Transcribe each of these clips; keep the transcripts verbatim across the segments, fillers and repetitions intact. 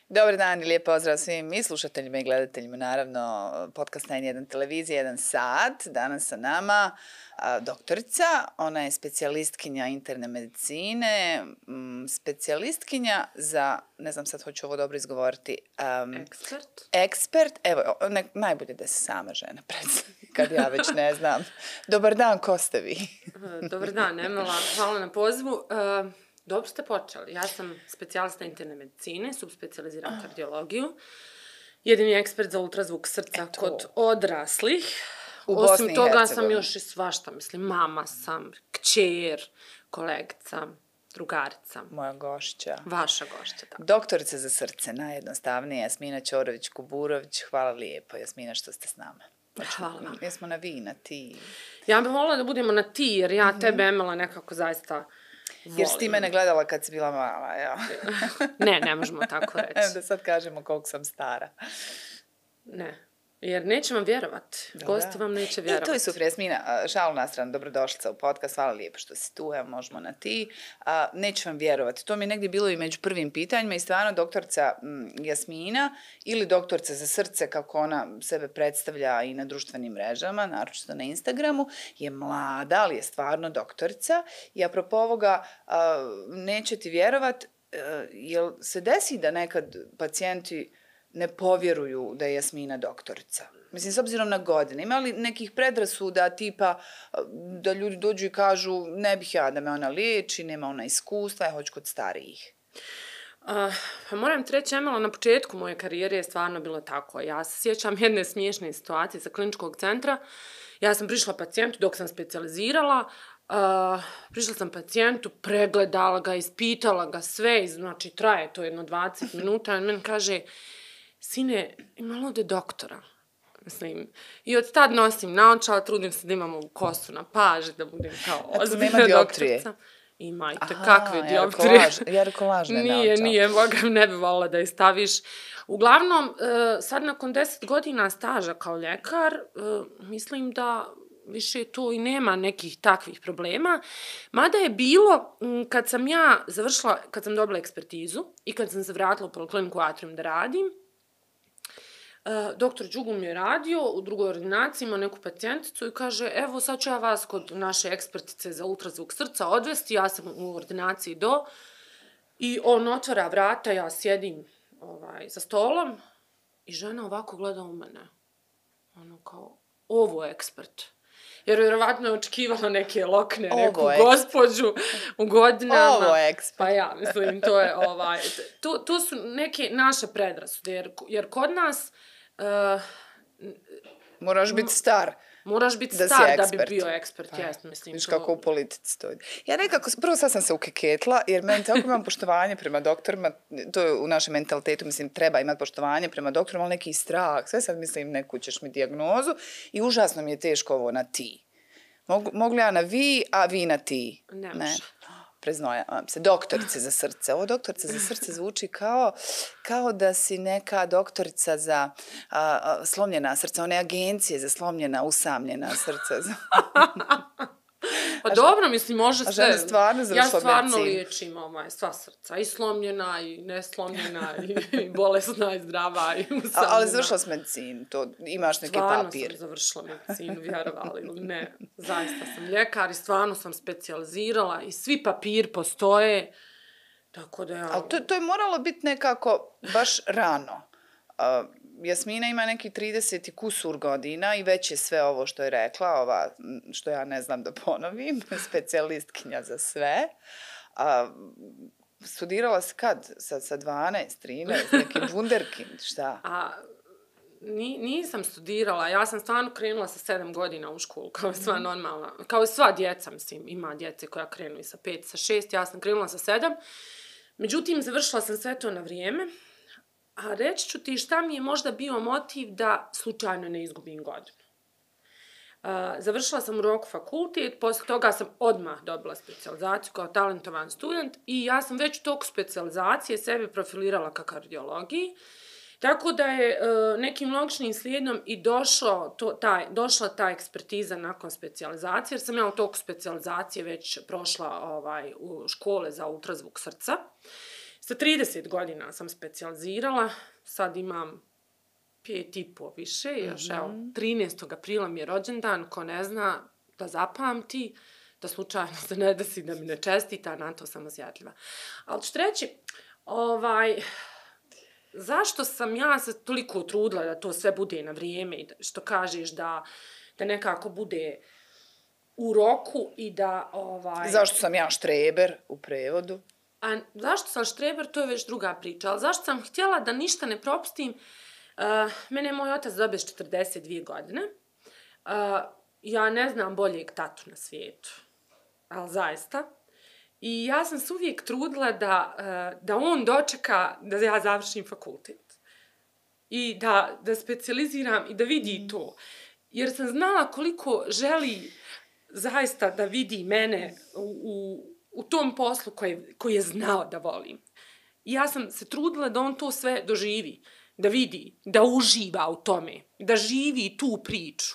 Dobar dan i lijep pozdrav svim i slušateljima i gledateljima, naravno, podcast na N jedan televizije, jedan sat. Danas sa nama a, doktorica, ona je specijalistkinja interne medicine, m, specijalistkinja za, ne znam sad hoću ovo dobro izgovoriti, um, ekspert. Ekspert, evo, ne, najbolje da se sama žena predstavi, kad ja već ne znam. Dobar dan, ko ste vi? Dobar dan, Emela, hvala na pozivu. Uh, Dobro ste počeli. Ja sam specijalista interne medicine, subspecijaliziram kardiologiju. Jedini ekspert za ultrazvuk srca Eto. Kod odraslih. U Osim Bosni i toga sam Hercegovini. još i svašta, mislim, mama sam, kćer, kolegica, drugarica. Moja gošća. Vaša gošća, da. Doktorica za srce, najjednostavnije, Jasmina Ćorović-Kuburović. Hvala lijepo, Jasmina, što ste s nama. Hvala vam. Jesmo na vi, na ti. Ja bih volila da budemo na ti, jer ja tebe, Emela, nekako zaista volim. Jer si ti mene gledala kad si bila mala, ja. Ne, ne možemo tako Evo reći. da sad kažemo koliko sam stara. Ne. Jer neće vam vjerovat. Gosti vam neće vjerovat. I to je super, Jasmina, šalu na stranu, dobrodošlica u podcast, hvala lijepo što si tu, evo možemo na ti. A, neću vam vjerovati, to mi je negdje bilo i među prvim pitanjima i stvarno doktorica m, Jasmina ili doktorica za srce, kako ona sebe predstavlja i na društvenim mrežama, naročito na Instagramu, je mlada, ali je stvarno doktorica i apropo ovoga, a, neće ti vjerovat, a, jel se desi da nekad pacijenti ne povjeruju da je Jasmina doktorica? Mislim, s obzirom na godine, ima li nekih predrasuda tipa da ljudi dođu i kažu ne bih ja da me ona liječi, nema ona iskustva, ja hoću kod starijih? Uh, pa moram ti reći, Emela, na početku moje karijere je stvarno bilo tako. Ja se sjećam jedne smiješne situacije sa kliničkog centra. Ja sam prišla pacijentu dok sam specijalizirala, uh, prišla sam pacijentu, pregledala ga, ispitala ga sve, znači traje to jedno dvadeset minuta, i on meni kaže: sine, ima li ovdje doktora? Mislim, i od tad nosim naočala, trudim se da imam ovu kosu na paži, da budem kao ozbiljna doktorica. Ima i kakve dioptrije. Jarko lažne naočala. Nije, nije, Boga ne bi volila da je staviš. Uglavnom, sad nakon deset godina staža kao ljekar, mislim da više tu i nema nekih takvih problema. Mada je bilo, kad sam ja završila, kad sam dobila ekspertizu i kad sam se vratila u Polikliniku Atrium da radim, doktor Đugum je radio u drugoj ordinaciji, ima neku pacijenticu i kaže: evo sad ću ja vas kod naše ekspertice za ultrazvuk srca odvesti, ja sam u ordinaciji do, i on otvara vrata, ja sjedim ovaj, za stolom i žena ovako gleda u mene. Ono kao, ovo je ekspert. Jer vjerovatno je očekivala neke lokne, ovo neku ekspert. Gospođu u godinama. Ovo je ekspert. Pa ja, mislim, to je ovaj, to, to su neke naše predrasude, jer, jer kod nas Uh, moraš biti star. Moraš biti da star da bi ekspert. bio ekspert, Pa, jest, mislim. Viš to... kako u politici to ide. Ja nekako, prvo sad sam se ukeketla, jer meni tako imam poštovanje prema doktorima, to je u našem mentalitetu, mislim, treba imati poštovanje prema doktorima, ali neki strah, sve sad mislim, neku ćeš mi dijagnozu i užasno mi je teško ovo na ti. Mogu, mogu ja na vi, a vi na ti? Ne, ne? može. Preznojavam se, doktorice za srce. Ovo doktorica za srce zvuči kao, kao da si neka doktorica za a, a, slomljena srca, one agencije za slomljena, usamljena srca. Pa dobro, mislim, može sve. A žena stvarno završila Ja stvarno medicinu. liječim ovaj, sva srca, i slomljena, i neslomljena, i, i bolesna, i zdrava, i usamljena. A, ali završila si medicinu, to imaš neki stvarno papir. Stvarno sam završila medicinu, vjerovali ili ne. Zaista sam ljekar i stvarno sam specijalizirala i svi papiri postoje, tako da ja... Ali to, to je moralo biti nekako baš rano. Uh, Jasmina ima neki trideset i kusur godina i već je sve ovo što je rekla, ova, što ja ne znam da ponovim, specijalistkinja za sve. Uh, studirala si kad? Sa, sa dvanaest, trinaest, neki wunderkind, šta? A, ni, nisam studirala, ja sam stvarno krenula sa sedam godina u školu, kao sva normalna, kao i sva djeca, mislim, ima djece koja krenu i sa pet, sa šest, ja sam krenula sa sedam. Međutim, završila sam sve to na vrijeme. A reći ću ti šta mi je možda bio motiv da slučajno ne izgubim godinu. Uh, završila sam u roku fakultet, poslije toga sam odmah dobila specijalizaciju kao talentovan student i ja sam već u toku specijalizacije sebe profilirala ka kardiologiji. Tako da je uh, nekim logičnim slijedom i došlo to, taj, došla ta ekspertiza nakon specijalizacije, jer sam ja u toku specijalizacije već prošla ovaj, u škole za ultrazvuk srca. Sa trideset godina sam specijalizirala, sad imam pet i po više, još evo, trinaestog aprila mi je rođendan, ko ne zna da zapamti, da slučajno se ne desi da mi ne čestita, na to sam osjetljiva. Ali ću reći, ovaj, zašto sam ja se toliko trudila da to sve bude na vrijeme i što kažeš da, da nekako bude u roku i da... Ovaj, zašto sam ja štreber u prevodu? A zašto sam štreber, to je već druga priča, ali zašto sam htjela da ništa ne propustim, uh, mene je moj otac dobio s četrdeset dvije godine, uh, ja ne znam boljeg tatu na svijetu, ali zaista. I ja sam se uvijek trudila da, uh, da on dočeka da ja završim fakultet. I da, da specijaliziram i da vidi to. Jer sam znala koliko želi zaista da vidi mene u, u, u tom poslu koji, koji je znao da volim. I ja sam se trudila da on to sve doživi, da vidi, da uživa u tome, da živi tu priču.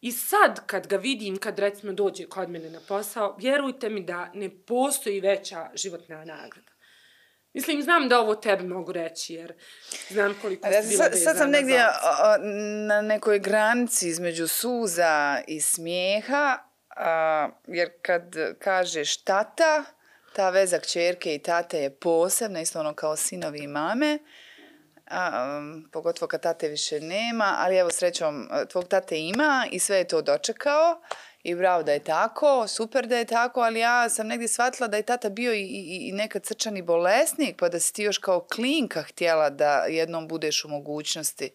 I sad kad ga vidim, kad recimo dođe kod mene na posao, vjerujte mi da ne postoji veća životna nagrada. Mislim, znam da ovo tebi mogu reći, jer znam koliko si bila vezana. Sad sam negdje na nekoj granici između suza i smijeha, jer kad kažeš tata, ta veza kćerke i tate je posebna, isto ono kao sinovi i mame, a, um, pogotovo kad tate više nema, ali evo srećom tvog tate ima i sve je to dočekao i bravo da je tako, super da je tako, ali ja sam negdje shvatila da je tata bio i, i, i nekad srčani bolesnik, pa da si ti još kao klinka htjela da jednom budeš u mogućnosti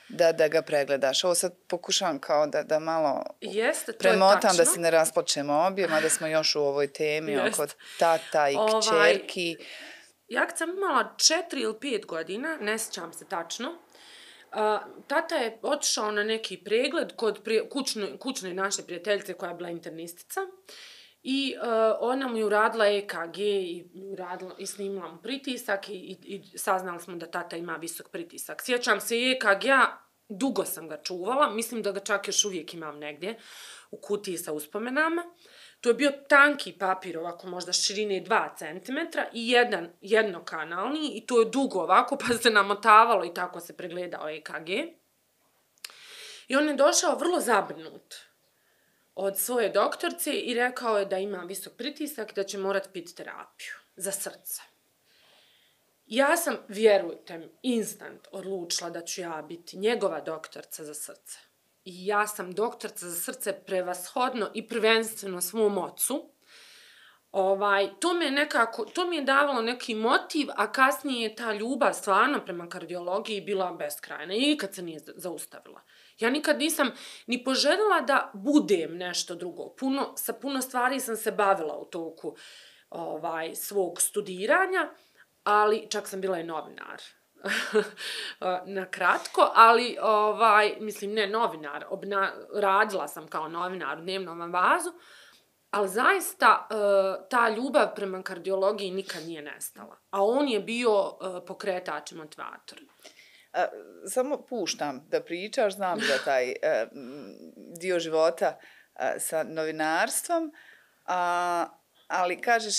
da, da ga pregledaš. Ovo sad pokušavam kao da, da malo Jeste, premotam da se ne rasplačemo obje, mada smo još u ovoj temi Jest. oko tata i ovaj, kćerki. Ja kad sam imala četiri ili pet godina, ne sjećam se tačno, uh, tata je otišao na neki pregled kod prije, kućne, kućne naše prijateljice koja je bila internistica i uh, ona mu je uradila E K G i, uradila, i snimila mu pritisak i, i, i saznali smo da tata ima visok pritisak. Sjećam se E K G-a, dugo sam ga čuvala, mislim da ga čak još uvijek imam negdje u kutiji sa uspomenama. To je bio tanki papir, ovako možda širine dva centimetra i jedan jednokanalni i to je dugo ovako, pa se namotavalo i tako se pregledao E K G. I on je došao vrlo zabrinut od svoje doktorce i rekao je da ima visok pritisak i da će morat piti terapiju za srce. Ja sam, vjerujte mi, instant odlučila da ću ja biti njegova doktorca za srce. I ja sam doktorca za srce prevashodno i prvenstveno svom ocu. Ovaj, to me nekako, to mi je davalo neki motiv, a kasnije je ta ljubav stvarno prema kardiologiji bila beskrajna i nikad se nije zaustavila. Ja nikad nisam ni poželjela da budem nešto drugo. Puno, sa puno stvari sam se bavila u toku ovaj, svog studiranja, ali čak sam bila i novinar. Na kratko, ali ovaj, mislim ne novinar, obna, radila sam kao novinar u dnevnom avazu, ali zaista uh, ta ljubav prema kardiologiji nikad nije nestala. A on je bio uh, pokretač i motivator. A, samo puštam da pričaš, znam da taj uh, dio života uh, sa novinarstvom, a, ali kažeš,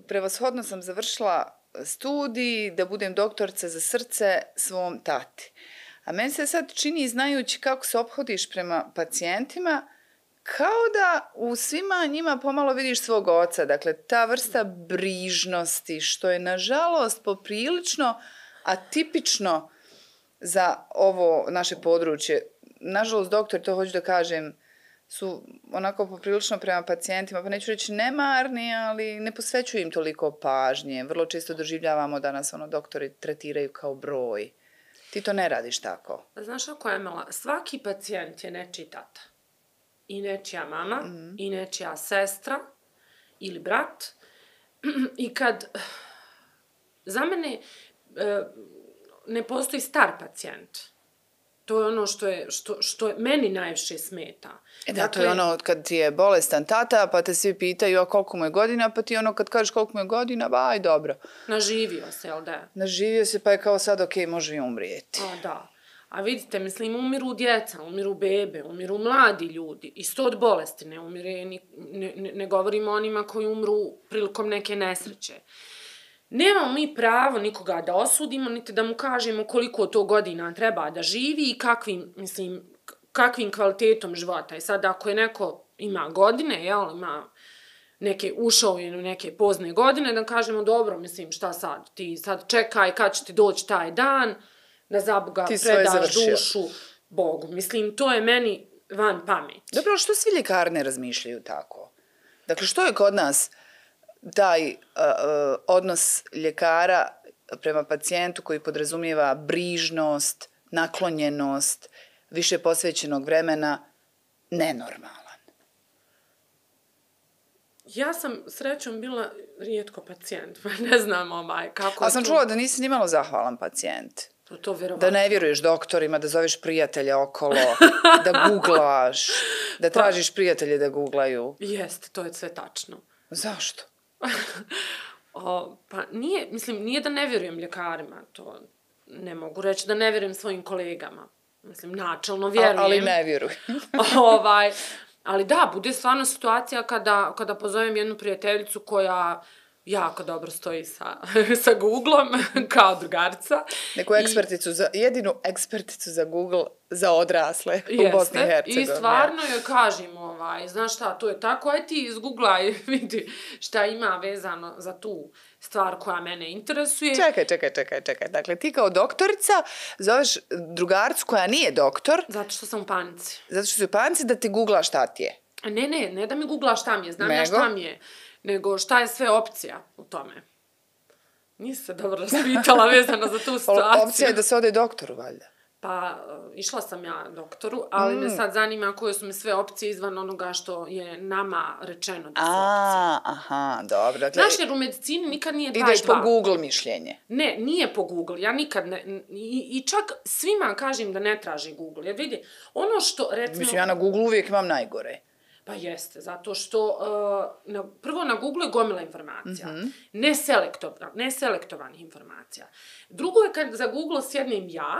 prevashodno sam završila studij, da budem doktorca za srce svom tati. A meni se sad čini, znajući kako se ophodiš prema pacijentima, kao da u svima njima pomalo vidiš svog oca. Dakle, ta vrsta brižnosti, što je nažalost poprilično atipično za ovo naše područje. Nažalost, doktor, to hoću da kažem, su onako poprilično prema pacijentima, pa neću reći nemarni, ali ne posvećuju im toliko pažnje. Vrlo često doživljavamo da nas ono doktori tretiraju kao broj. Ti to ne radiš tako. Znaš ako je Emela, svaki pacijent je nečiji tata. I nečija mama, mm-hmm. i nečija sestra, ili brat. I kad za mene ne postoji star pacijent. To je ono što je, što, što je meni najviše smeta. E da, dakle, to je ono kad ti je bolestan tata, pa te svi pitaju a koliko mu je godina, pa ti ono kad kažeš koliko mu je godina, ba, aj dobro. Naživio se, jel da? Naživio se, pa je kao sad ok, može i umrijeti. A, da. A vidite, mislim, umiru djeca, umiru bebe, umiru mladi ljudi. Isto od bolesti ne umire, ne, ne, ne govorimo o onima koji umru prilikom neke nesreće. nemamo mi pravo nikoga da osudimo, niti da mu kažemo koliko to godina treba da živi i kakvim, mislim, kakvim kvalitetom života. I sad ako je neko ima godine, jel, ima neke ušao u neke pozne godine, da kažemo dobro, mislim, šta sad, ti sad čekaj kad će ti doći taj dan, da za Boga predaš dušu Bogu. Mislim, to je meni van pameti. Dobro, što svi ljekari ne razmišljaju tako? Dakle, što je kod nas taj uh, uh, odnos ljekara prema pacijentu koji podrazumijeva brižnost, naklonjenost, više posvećenog vremena, nenormalan? Ja sam srećom bila rijetko pacijent, pa ne znam ovaj, kako... Ali sam čula da nisi nimalo zahvalan pacijent. To, to vjerovatno. Da ne vjeruješ doktorima, da zoveš prijatelja okolo, da googlaš, da tražiš prijatelje da googlaju. Jeste, to je sve tačno. Zašto? o, pa nije, mislim, nije da ne vjerujem ljekarima, to ne mogu reći da ne vjerujem svojim kolegama. Mislim, načelno vjerujem. A, ali ne vjerujem. ovaj, ali da, bude stvarno situacija kada, kada pozovem jednu prijateljicu koja jako dobro stoji sa, sa Googlom, kao drugarica. Neku eksperticu, za, jedinu eksperticu za Google za odrasle u Jeste, Bosni i Hercegovini. I stvarno joj kažem, ovaj, znaš šta, to je tako, aj ti izgooglaj, vidi šta ima vezano za tu stvar koja mene interesuje. Čekaj, čekaj, čekaj, čekaj. Dakle, ti kao doktorica zoveš drugaricu koja nije doktor. Zato što sam u panici. Zato što si u panici da ti googla šta ti je. Ne, ne, ne da mi googla šta mi je, znam Nego? ja šta mi je, nego šta je sve opcija u tome. Nisi se dobro raspitala vezano za tu situaciju. Opcija je da se ode doktoru, valjda. Pa, išla sam ja doktoru, ali mm. me sad zanima koje su mi sve opcije izvan onoga što je nama rečeno da su A, opcije. aha, dobro. Dakle, znaš, jer u medicini nikad nije dva ideš i dva. po Google mišljenje. Ne, nije po Google. Ja nikad ne... I, i čak svima kažem da ne traži Google. Jer vidi, ono što, recimo... Mislim, ja na Google uvijek imam najgore. Pa jeste, zato što uh, na, prvo na Google je gomila informacija. Mm-hmm. Neselektovan, neselektovanih informacija. Drugo je kad za Google sjednem ja,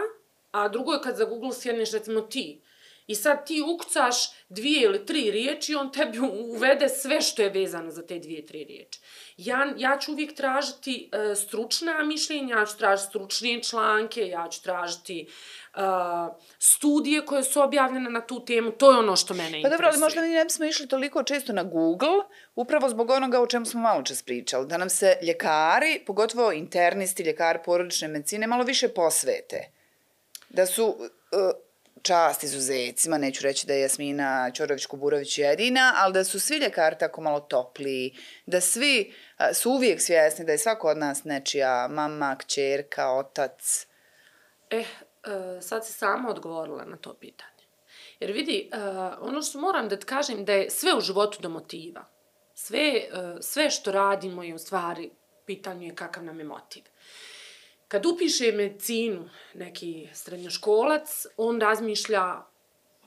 a drugo je kad za Google sjedneš recimo ti. I sad ti ukucaš dvije ili tri riječi i on tebi uvede sve što je vezano za te dvije, tri riječi. Ja, ja ću uvijek tražiti uh, stručna mišljenja, ja ću tražiti stručnije članke, ja ću tražiti uh, studije koje su objavljene na tu temu, to je ono što mene interesuje. Pa dobro, ali možda mi ne bismo išli toliko često na Google, upravo zbog onoga o čemu smo malo čas pričali, da nam se ljekari, pogotovo internisti, ljekari porodične medicine, malo više posvete. Da su... Uh, čast izuzecima, neću reći da je Jasmina Ćorović-Kuburović jedina, ali da su svi ljekari tako malo topliji, da svi a, su uvijek svjesni da je svako od nas nečija mama, kćerka, otac. Eh, uh, sad si sama odgovorila na to pitanje. Jer vidi, uh, ono što moram da ti kažem da je sve u životu do motiva. Sve, uh, sve što radimo je u stvari pitanje je kakav nam je motiv. Kad upiše medicinu neki srednjoškolac, on razmišlja,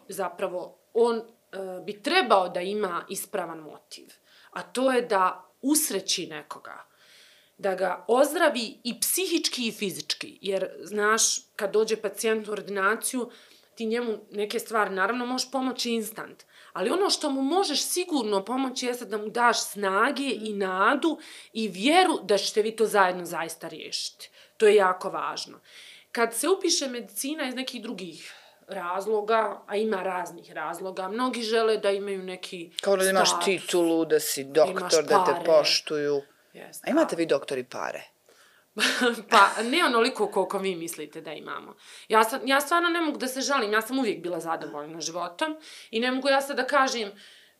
zapravo, on e, bi trebao da ima ispravan motiv. A to je da usreći nekoga. Da ga ozdravi i psihički i fizički. Jer, znaš, kad dođe pacijent u ordinaciju, ti njemu neke stvari, naravno, možeš pomoći instant. Ali ono što mu možeš sigurno pomoći jeste da mu daš snage i nadu i vjeru da ćete vi to zajedno zaista riješiti. To je jako važno. Kad se upiše medicina iz nekih drugih razloga, a ima raznih razloga, mnogi žele da imaju neki kao da imaš status, titulu, da si doktor, da te poštuju. Yes, a imate vi doktori pare? Pa ne onoliko koliko vi mislite da imamo. Ja, sam, ja stvarno ne mogu da se žalim, ja sam uvijek bila zadovoljna životom i ne mogu ja sad da kažem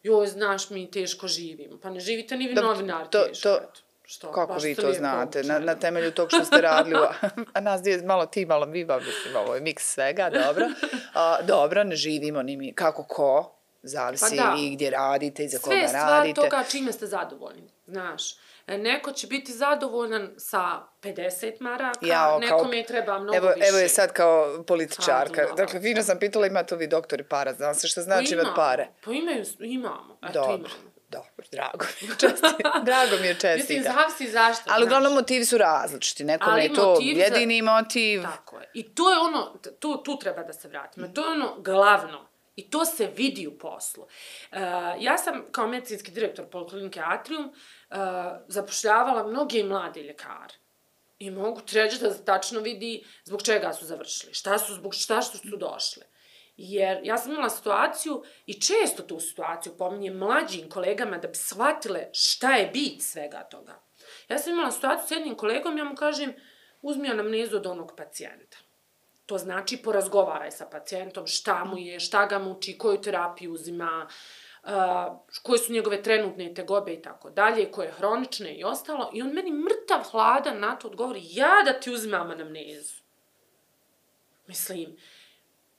joj, znaš, mi teško živimo. Pa ne živite ni vi novinar teško. To, što? Kako vi to znate? Na, na temelju tog što ste radili, a nas dvije malo ti, malo vi, ba, mislim, ovo je miks svega, dobro. A, dobro, ne živimo ni mi. Kako ko? Zavisi pa i gdje radite i za koga radite. Sve stvar toga čime ste zadovoljni, znaš. Neko će biti zadovoljan sa pedeset maraka, Jao, nekome je treba mnogo evo, više. Evo je sad kao političarka. Dakle, fino sam pitala, imate li doktori para? Znam se što znači imati pare. Pa imaju, imamo. Eto, dobro, imamo. Dobro, drago mi je čestiti. Drago mi je čestiti. Mislim, zavisi zašto. Ali uglavnom motivi su različiti. Nekome je to jedini za... motiv. Tako je. I to je ono, tu, tu treba da se vratimo. Mm. To je ono glavno. I to se vidi u poslu. Uh, ja sam kao medicinski direktor Poliklinike Atrium uh, zapošljavala mnoge mlade ljekare. I mogu ti reći da se tačno vidi zbog čega su završili, šta su, zbog šta što su došli. Jer ja sam imala situaciju i često tu situaciju pominjem mlađim kolegama da bi shvatile šta je bit svega toga. Ja sam imala situaciju s jednim kolegom, ja mu kažem, uzmi anamnezu od onog pacijenta. To znači porazgovaraj sa pacijentom, šta mu je, šta ga muči, koju terapiju uzima, uh, koje su njegove trenutne tegobe i tako dalje, koje hronične i ostalo. I on meni mrtav hladan na to odgovori, ja da ti uzimam anamnezu. Mislim,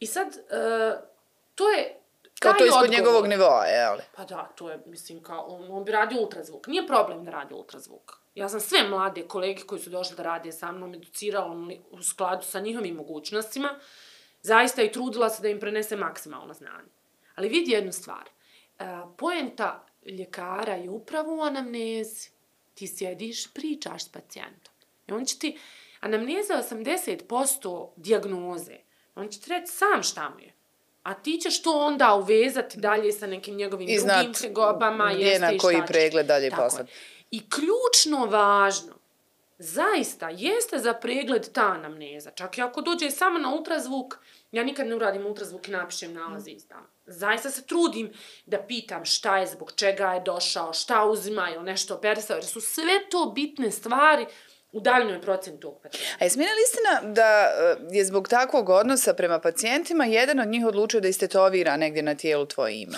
i sad, uh, to je... Kao to ispod njegovog nivoa, je li? Pa da, to je, mislim, kao, on, on bi radio ultrazvuk. Nije problem da radi ultrazvuk. Ja sam sve mlade kolege koji su došli da rade sa mnom educirala u skladu sa njihovim mogućnostima, zaista i trudila se da im prenese maksimalno znanje. Ali vidi jednu stvar. Uh, poenta ljekara je upravo u anamnezi. Ti sjediš, pričaš s pacijentom. I on će ti, anamneza je osamdeset posto dijagnoze. On će ti reći sam šta mu je. A ti ćeš to onda uvezati dalje sa nekim njegovim I drugim tegobama. I znat na koji pregled dalje poslati. I ključno važno, zaista, jeste za pregled ta anamneza. Čak i ako dođe samo na ultrazvuk, ja nikad ne uradim ultrazvuk i napišem nalaze i izdam. Zaista se trudim da pitam šta je, zbog čega je došao, šta uzima ili nešto operisao, jer su sve to bitne stvari u daljnjoj procjeni tog pacijenta. A je smijena li istina da je zbog takvog odnosa prema pacijentima jedan od njih odlučio da istetovira negdje na tijelu tvoje ime?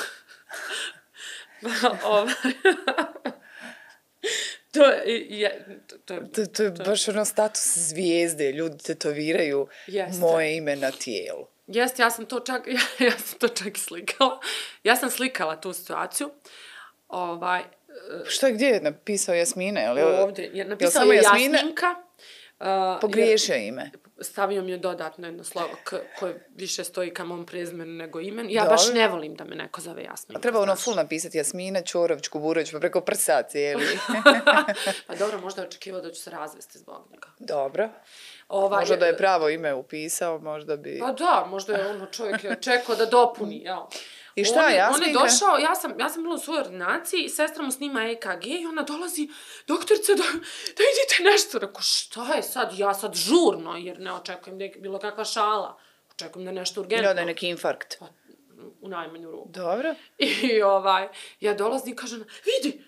To je, to, je, to, to je baš ono status zvijezde, ljudi tetoviraju Jeste. Moje ime na tijelu. Jeste, ja sam to čak, ja, ja sam to čak i slikala. Ja sam slikala tu situaciju. Ovaj, Šta je gdje je napisao Jasmina? Je li, ovdje je napisao je Jasminka. Uh, Pogriješio ime. Stavio mi je dodatno jedno slovo k, koje više stoji ka mom prezimenu nego imen. Ja Dobre. baš ne volim da me neko zove Jasminka. A treba ono full napisati Jasmina, Ćorović, Kuburović, pa preko prsa cijeli. Pa dobro, možda je očekivao da ću se razvesti zbog njega. Dobro. Ovaj, možda da je pravo ime upisao, možda bi... Pa da, možda je ono čovjek je čekao da dopuni, jel? I šta, on, Jasminka? On je došao, ja sam, ja sam bila u svojoj ordinaciji i sestra mu snima E K G i ona dolazi, doktorice, da, da idite nešto. Rekao, šta je sad? Ja sad žurno, jer ne očekujem da je bilo kakva šala. Očekujem da je nešto urgentno. Ja, da je neki infarkt. Pa, u najmanju ruku. Dobro. I ovaj, ja dolazim i kažem, vidi,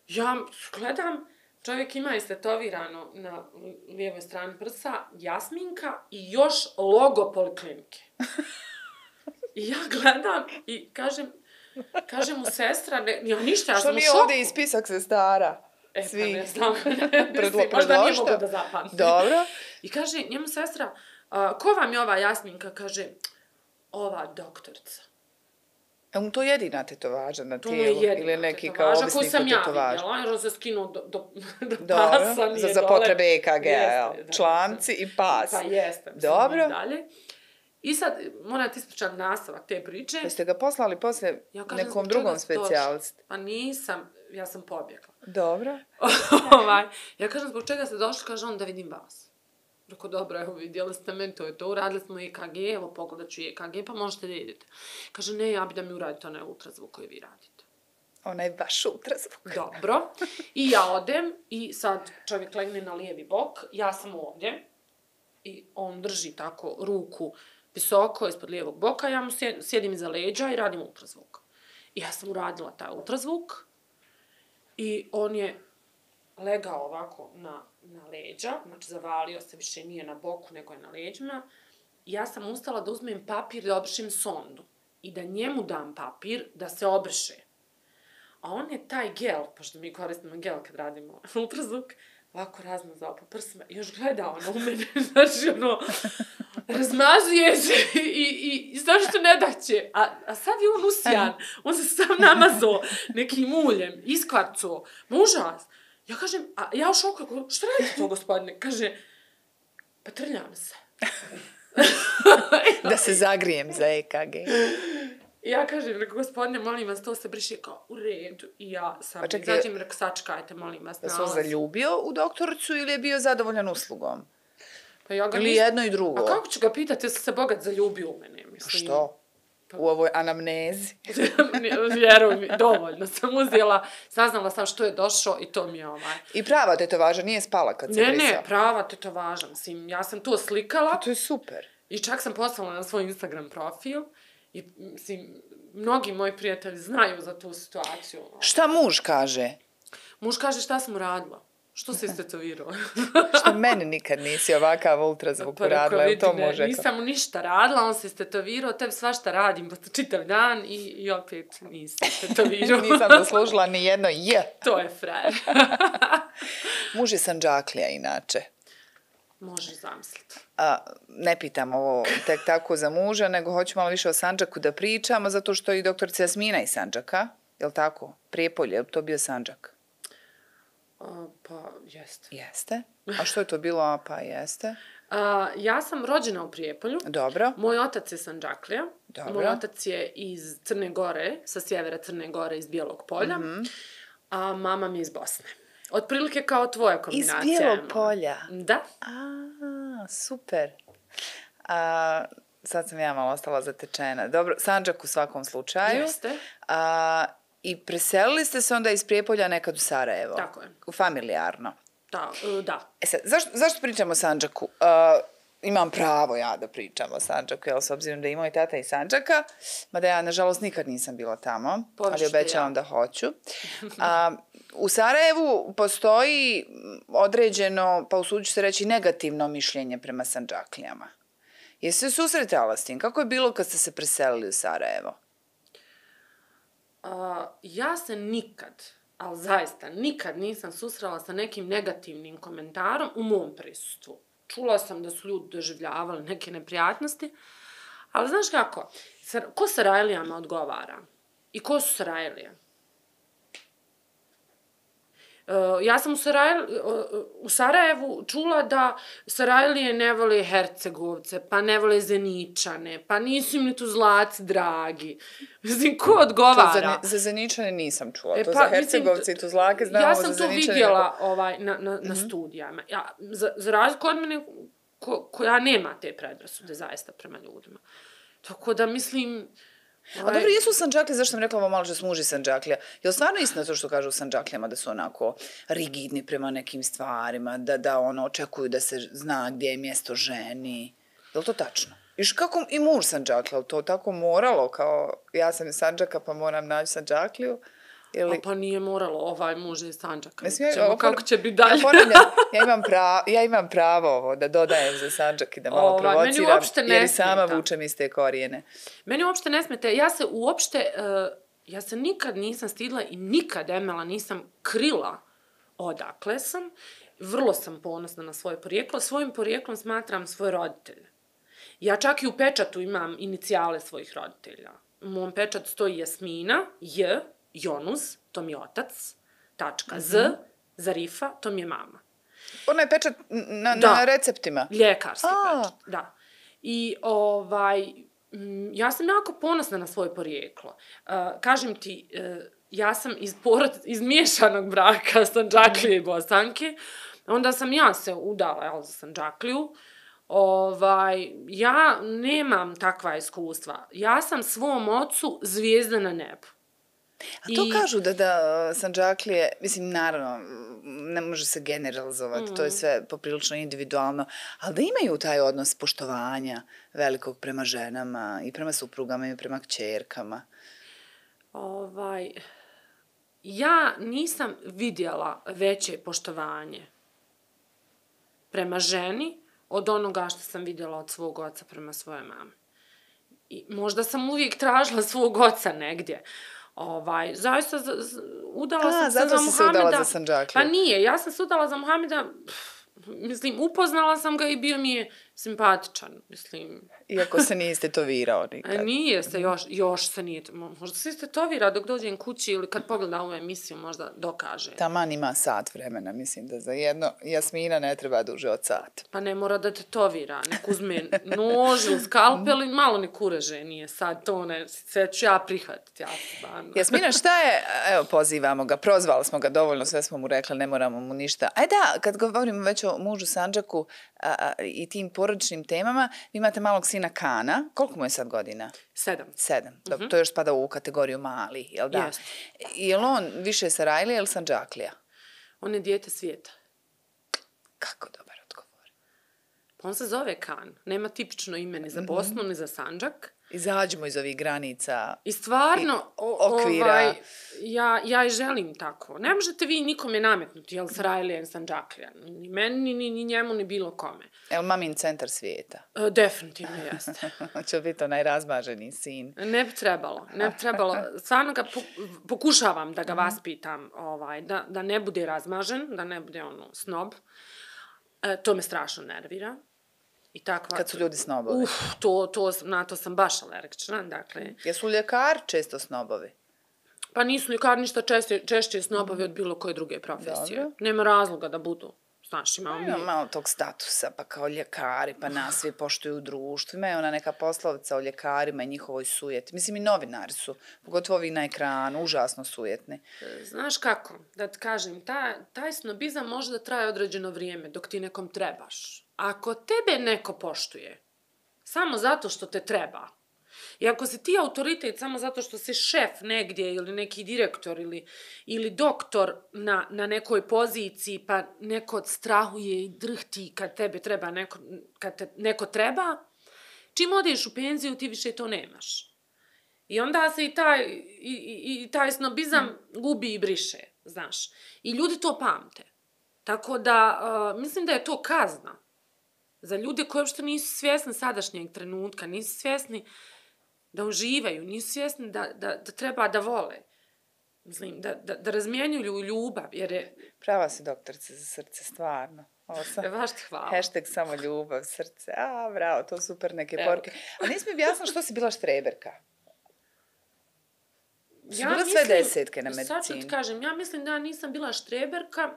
ja gledam, čovjek ima istetovirano na lijevoj strani prsa Jasminka i još logo Poliklinike. I ja gledam i kažem, kažem mu sestra, ne, ja ništa, ja sam u šoku. Što mi je ovdje ispisak sestara? E, Svi. pa ne znam, Predlo, možda nije mogo da zapamtim. Dobro. I kaže njemu sestra, a, ko vam je ova Jasminka? Kaže, ova doktorica. Je mu to jedina tetovaža na tijelu? To je ili neki kao ovisnik o tetovažu? Koju sam ja vidjela, jer on se skinuo do, do, do pasa. Dobro, za, za potrebe E K G-a, članci i pas. Pa jeste. Dobro. Dalje. I sad, morate ispričati nastavak te priče. Jeste ga poslali poslije ja kažem, nekom drugom specijalistu? Pa nisam, ja sam pobjegla. Dobro. ovaj, ja kažem, zbog čega ste došli, kaže on, da vidim vas. Rekao, dobro, evo, vidjeli ste meni, to je to, uradili smo E K G, evo, pogledat ću E K G, pa možete da idete. Kaže, ne, ja bi da mi uradite onaj ultrazvuk koji vi radite. Onaj baš ultrazvuk. Dobro. I ja odem i sad čovjek legne na lijevi bok, ja sam ovdje i on drži tako ruku visoko ispod lijevog boka, ja mu sjedim iza leđa i radim ultrazvuk. I ja sam uradila taj ultrazvuk i on je legao ovako na, na leđa, znači zavalio se, više nije na boku, nego je na leđima. I ja sam ustala da uzmem papir da obrišem sondu i da njemu dam papir da se obriše. A on je taj gel, pošto mi koristimo gel kad radimo ultrazvuk, ovako razmazao po prsima i još gleda ono u mene, znači ono, razmazuje se i, i, i zašto ne daće. A, a sad je on usijan, on se sam namazao nekim uljem, iskvarcao, užas. Ja kažem, a ja u šoku, što radite to, gospodine? Kaže, pa trljam se. Da se zagrijem za E K G. I ja kažem, rekao, gospodine, molim vas, to se briše kao u redu. I ja sam, pa izađem, rekao, sačekajte, molim vas, nalaz. Da se on zaljubio u doktoricu ili je bio zadovoljan uslugom? Pa ja ga ili nisam... jedno i drugo? A kako ću ga pitati, jesi se bogat zaljubio u mene, mislim? Što? u ovoj anamnezi. Vjeruj mi, dovoljno sam uzela, saznala sam što je došao i to mi je ovaj. I prava tetovaža nije spala kad se Ne, brisao? ne, prava tetovaža, mislim, ja sam to slikala. Pa to je super. I čak sam poslala na svoj Instagram profil i, mislim, mnogi moji prijatelji znaju za tu situaciju. Šta muž kaže? Muž kaže šta sam uradila. Što se istetovirao? Što meni nikad nisi ovakav ultrazvuk uradila, jel to može? Nisam mu ništa radila, on se istetovirao, tebi svašta radim čitav dan i, i opet nisam istetovirao. Nisam zaslužila ni jedno je. To je frajer. Muž je Sandžaklija inače. Možeš zamisliti. A, ne pitam ovo tek tako za muža, nego hoću malo više o Sandžaku da pričamo, zato što i doktorica Jasmina iz Sandžaka, jel tako? Prijepolje, je li to bio Sandžak? A, pa, jeste. Jeste. A što je to bilo? Pa jeste. A, ja sam rođena u Prijepolju. Dobro. Moj otac je Sandžaklija. Dobro. Moj otac je iz Crne Gore, sa sjevera Crne Gore, iz Bijelog polja. Mm-hmm. A mama mi je iz Bosne. Otprilike kao tvoja kombinacija. Iz Bijelog polja? Da. A, super. A, sad sam ja malo ostala zatečena. Dobro, Sandžak u svakom slučaju. Jeste. A, I preselili ste se onda iz Prijepolja nekad u Sarajevo? Tako je. Familijarno? Da, da. E sad, zašto, zašto pričamo o Sandžaku? Uh, imam pravo ja da pričam o Sandžaku, jel, s obzirom da je moj tata iz Sandžaka, mada ja, nažalost, nikad nisam bila tamo, Površte, ali obećavam ja. da hoću. Uh, u Sarajevu postoji određeno, pa usudit se reći, negativno mišljenje prema Sandžaklijama. Jesi se susretala s tim? Kako je bilo kad ste se preselili u Sarajevo? Uh, ja se nikad, ali zaista nikad nisam susrela sa nekim negativnim komentarom u mom prisustvu. Čula sam da su ljudi doživljavali neke neprijatnosti, ali znaš kako, ko Sarajlijama odgovara? I ko su Sarajlije? Uh, ja sam u, Sarajl, uh, u Sarajevu čula da Sarajlije ne vole Hercegovce, pa ne vole Zeničane, pa nisu im ni tu Zlaci dragi. Mislim, ko odgovara? To za, za Zeničane nisam čula, e, to pa, za Hercegovce i Tuzlake znamo. Ja sam za to Zeničane vidjela neko... ovaj, na, na, mm-hmm. na studijama. Ja, za, za razliku od mene, ko, koja nema te predrasude zaista prema ljudima. Tako da mislim... A dobro, jesu Sandžaklije, zašto sam rekla ovo malo što su muži Sandžaklija? Je li stvarno istina to što kažu u Sandžaklijama da su onako rigidni prema nekim stvarima, da, da ono očekuju da se zna gdje je mjesto ženi? Je li to tačno? Iš kako i muž Sandžaklija, je li to tako moralo kao ja sam iz Sandžaka pa moram naći Sandžakliju? Ili... A pa nije moralo, ovaj muž iz Sandžaka. Mislim, ja, Čemo, ovo, kako će biti dalje? Ja, ja, imam pravo, ja imam pravo ovo da dodajem za Sandžak i da malo ovaj, provociram, jer i sama smeta. vučem iz te korijene. Meni uopšte ne smete. Ja se uopšte, uh, ja se nikad nisam stidila i nikad, Emela, nisam krila odakle sam. Vrlo sam ponosna na svoje porijeklo. Svojim porijeklom smatram svoje roditelje. Ja čak i u pečatu imam inicijale svojih roditelja. U mom pečatu stoji Jasmina, J, Jonuz, to mi je otac, tačka, mm-hmm. Z, Zarifa, to mi je mama. Ona je pečat na, na receptima? Ljekarski A. pečat, da. I ovaj, m, ja sam jako ponosna na svoje porijeklo. Uh, kažem ti, uh, ja sam iz, porod, iz miješanog braka Sandžaklije i Bosanke, onda sam ja se udala jel, za Sandžakliju. Ovaj, ja nemam takva iskustva. Ja sam svom ocu zvijezda na nebu. A to I... kažu da, da Sandžaklije, mislim, naravno, ne može se generalizovati, mm. to je sve poprilično individualno, ali da imaju taj odnos poštovanja velikog prema ženama i prema suprugama i prema kćerkama. Ovaj, ja nisam vidjela veće poštovanje prema ženi od onoga što sam vidjela od svog oca prema svoje mame. I možda sam uvijek tražila svog oca negdje. Ovaj, zaista z, z, udala A, sam se za Muhameda. Muhameda. Se udala za Sandžakliju. Pa nije, ja sam se udala za Muhameda, mislim, upoznala sam ga i bio mi je simpatičan, mislim. Iako se nije istetovirao nikad. Nije se, još, još se nije, možda se istetovira dok dođem kući ili kad pogleda ovu emisiju možda dokaže. Taman ima sat vremena, mislim da za jedno Jasmina ne treba duže od sata. Pa ne mora da tetovira, nek uzme nož ili skalpel i malo ne kureže, nije sad to ne, sve ću ja prihvatiti. Ja, Jasmina, šta je, evo pozivamo ga, prozvali smo ga dovoljno, sve smo mu rekli, ne moramo mu ništa. Aj da, kad govorimo već o mužu Sandžaku a, a, i tim porodičnim porodičnim temama. Vi imate malog sina Kana. Koliko mu je sad godina? Sedam. Sedam. Dobro, to još spada u kategoriju mali, jel da? Jest. Je li on više Sarajlija ili Sandžaklija? On je dijete svijeta. Kako dobar odgovor. Pa on se zove Kan. Nema tipično ime ni za Bosnu, ni za Sandžak. Izađimo iz ovih granica. I stvarno, I o, okvira. ovaj, ja, ja i želim tako. Ne možete vi nikome nametnuti, jel Sarajlija ili Sandžaklija. Ni meni, ni, ni njemu, ni bilo kome. Jel mamin centar svijeta? E, definitivno jeste. Će biti onaj razmaženi sin. Ne bi trebalo, ne bi trebalo. Stvarno ga pokušavam da ga vaspitam, ovaj, da, da ne bude razmažen, da ne bude ono snob. E, to me strašno nervira. I takva... Kad su ljudi snobovi. Uf, to, to, na to sam baš alergična, dakle... Jesu ljekari često snobovi? Pa nisu ljekari ništa češće, češće snobovi od bilo koje druge profesije. Dobro. Nema razloga da budu. Znaš, imamo mi... Ima malo tog statusa, pa kao ljekari, pa nas svi poštuju u društvu. Ima je ona neka poslovica o ljekarima i njihovoj sujeti. Mislim, i novinari su, pogotovo ovi na ekranu, užasno sujetni. Znaš kako, da ti kažem, ta, taj snobizam može da traje određeno vrijeme, dok ti nekom trebaš. Ako tebe neko poštuje, samo zato što te treba, i ako si ti autoritet samo zato što si šef negdje ili neki direktor ili, ili doktor na, na nekoj poziciji, pa neko strahuje i drhti kad tebe treba, neko, kad te neko treba, čim odeš u penziju ti više to nemaš. I onda se i taj, i, i, i taj snobizam gubi i briše, znaš. I ljudi to pamte. Tako da, uh, mislim da je to kazna. Za ljude koji uopšte nisu svjesni sadašnjeg trenutka, nisu svjesni da uživaju, nisu svjesni da, da, da treba da vole. Mislim, da, da, da razmjenjuju ljubav, jer je... Prava si doktorica za srce, stvarno. Ovo sam... Baš ti hvala. Hashtag samo ljubav, srce. A, bravo, to super neke porke. A nisi mi objasnila što si bila štreberka? Si Ja bila mislim, sve desetke na medicini. Sad ću ti kažem, ja mislim da ja nisam bila štreberka.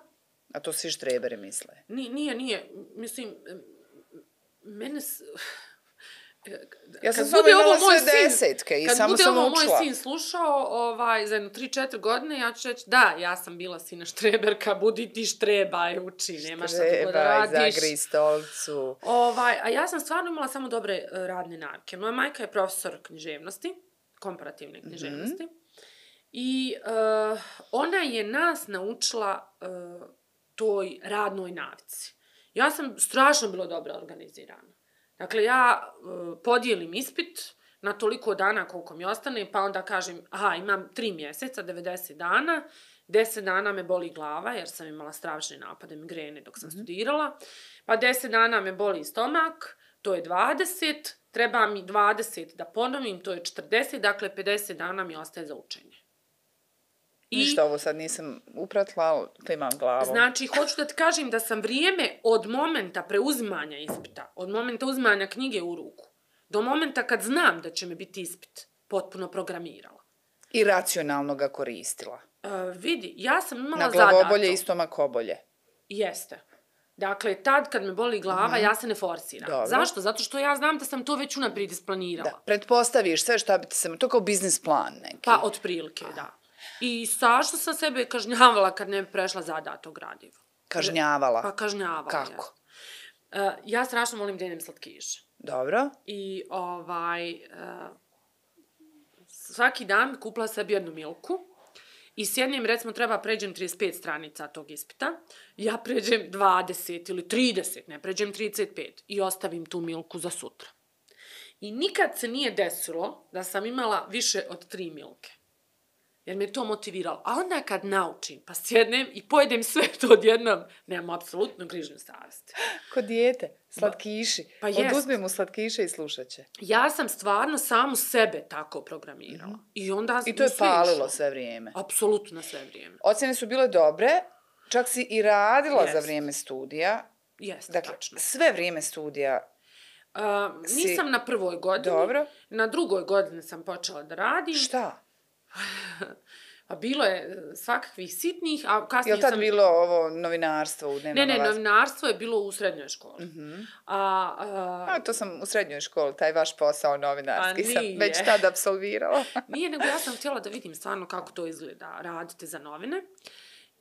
A to svi štreberi misle. Nije, nije, nije. Mislim, mene... S... Ja sam samo imala sve desetke i samo sam učila. Kad bude ovo moj sin slušao ovaj, za jedno tri četiri godine, ja ću reći, da, ja sam bila sina štreberka, budi ti štrebaj, uči, nemaš sad bilo da radiš. Štrebaj, zagri stolcu. Ovaj, a ja sam stvarno imala samo dobre uh, radne navike. Moja majka je profesor književnosti, komparativne književnosti. Mm-hmm. I uh, ona je nas naučila uh, toj radnoj navici. Ja sam strašno bila dobro organizirana. Dakle, ja uh, podijelim ispit na toliko dana koliko mi ostane, pa onda kažem, aha, imam tri mjeseca, devedeset dana, deset dana me boli glava, jer sam imala strašne napade migrene dok sam mm-hmm. studirala, pa deset dana me boli stomak, to je dvadeset, treba mi dvadeset da ponovim, to je četrdeset, dakle pedeset dana mi ostaje za učenje. I ništa, ovo sad nisam upratila, ali klimam glavom. Znači, hoću da ti kažem da sam vrijeme od momenta preuzimanja ispita, od momenta uzimanja knjige u ruku, do momenta kad znam da će mi biti ispit, potpuno programirala. I racionalno ga koristila. Uh, vidi, ja sam imala zadato. zadato. Na glavobolje i stomakobolje. Jeste. Dakle, tad kad me boli glava, mm-hmm. ja se ne forsiram. Dobro. Zašto? Zato što ja znam da sam to već unaprijed isplanirala. Da, pretpostaviš sve šta bi ti se... To kao biznis plan neki. Pa, otprilike, da. I strašno sam sebe kažnjavala kad ne bi prešla zadato gradivo. Kažnjavala? Pa kažnjavala. Kako? Ja, uh, ja strašno volim da jedem slatkiše. Dobro. I ovaj... Uh, svaki dan kupila sebi jednu milku i s jednim, recimo, treba pređem trideset pet stranica tog ispita. Ja pređem dvadeset ili trideset, ne pređem trideset pet i ostavim tu milku za sutra. I nikad se nije desilo da sam imala više od tri milke. Jer me to motiviralo. A onda kad naučim, pa sjednem i pojedem sve to odjednom, nemam apsolutno grižnju savjesti. Ko dijete, slatkiši. Pa oduzmi mu slatkiše i slušat će. Ja sam stvarno samu sebe tako programirala. Mm-hmm. I onda I to je palilo sve vrijeme. Apsolutno sve vrijeme. Ocjene su bile dobre, čak si i radila Jest. za vrijeme studija. Jeste, dakle, tačno. Sve vrijeme studija. Uh, nisam si... na prvoj godini. Dobro. Na drugoj godini sam počela da radim. Šta? Pa bilo je svakakvih sitnih, a kasnije sam... Je li tad sam... bilo ovo novinarstvo u dnevnom Ne, ne, novinarstvo je bilo u srednjoj školi. Mm-hmm. A, a... a, to sam u srednjoj školi, taj vaš posao novinarski sam već tad apsolvirala. Nije, nego ja sam htjela da vidim stvarno kako to izgleda, radite za novine.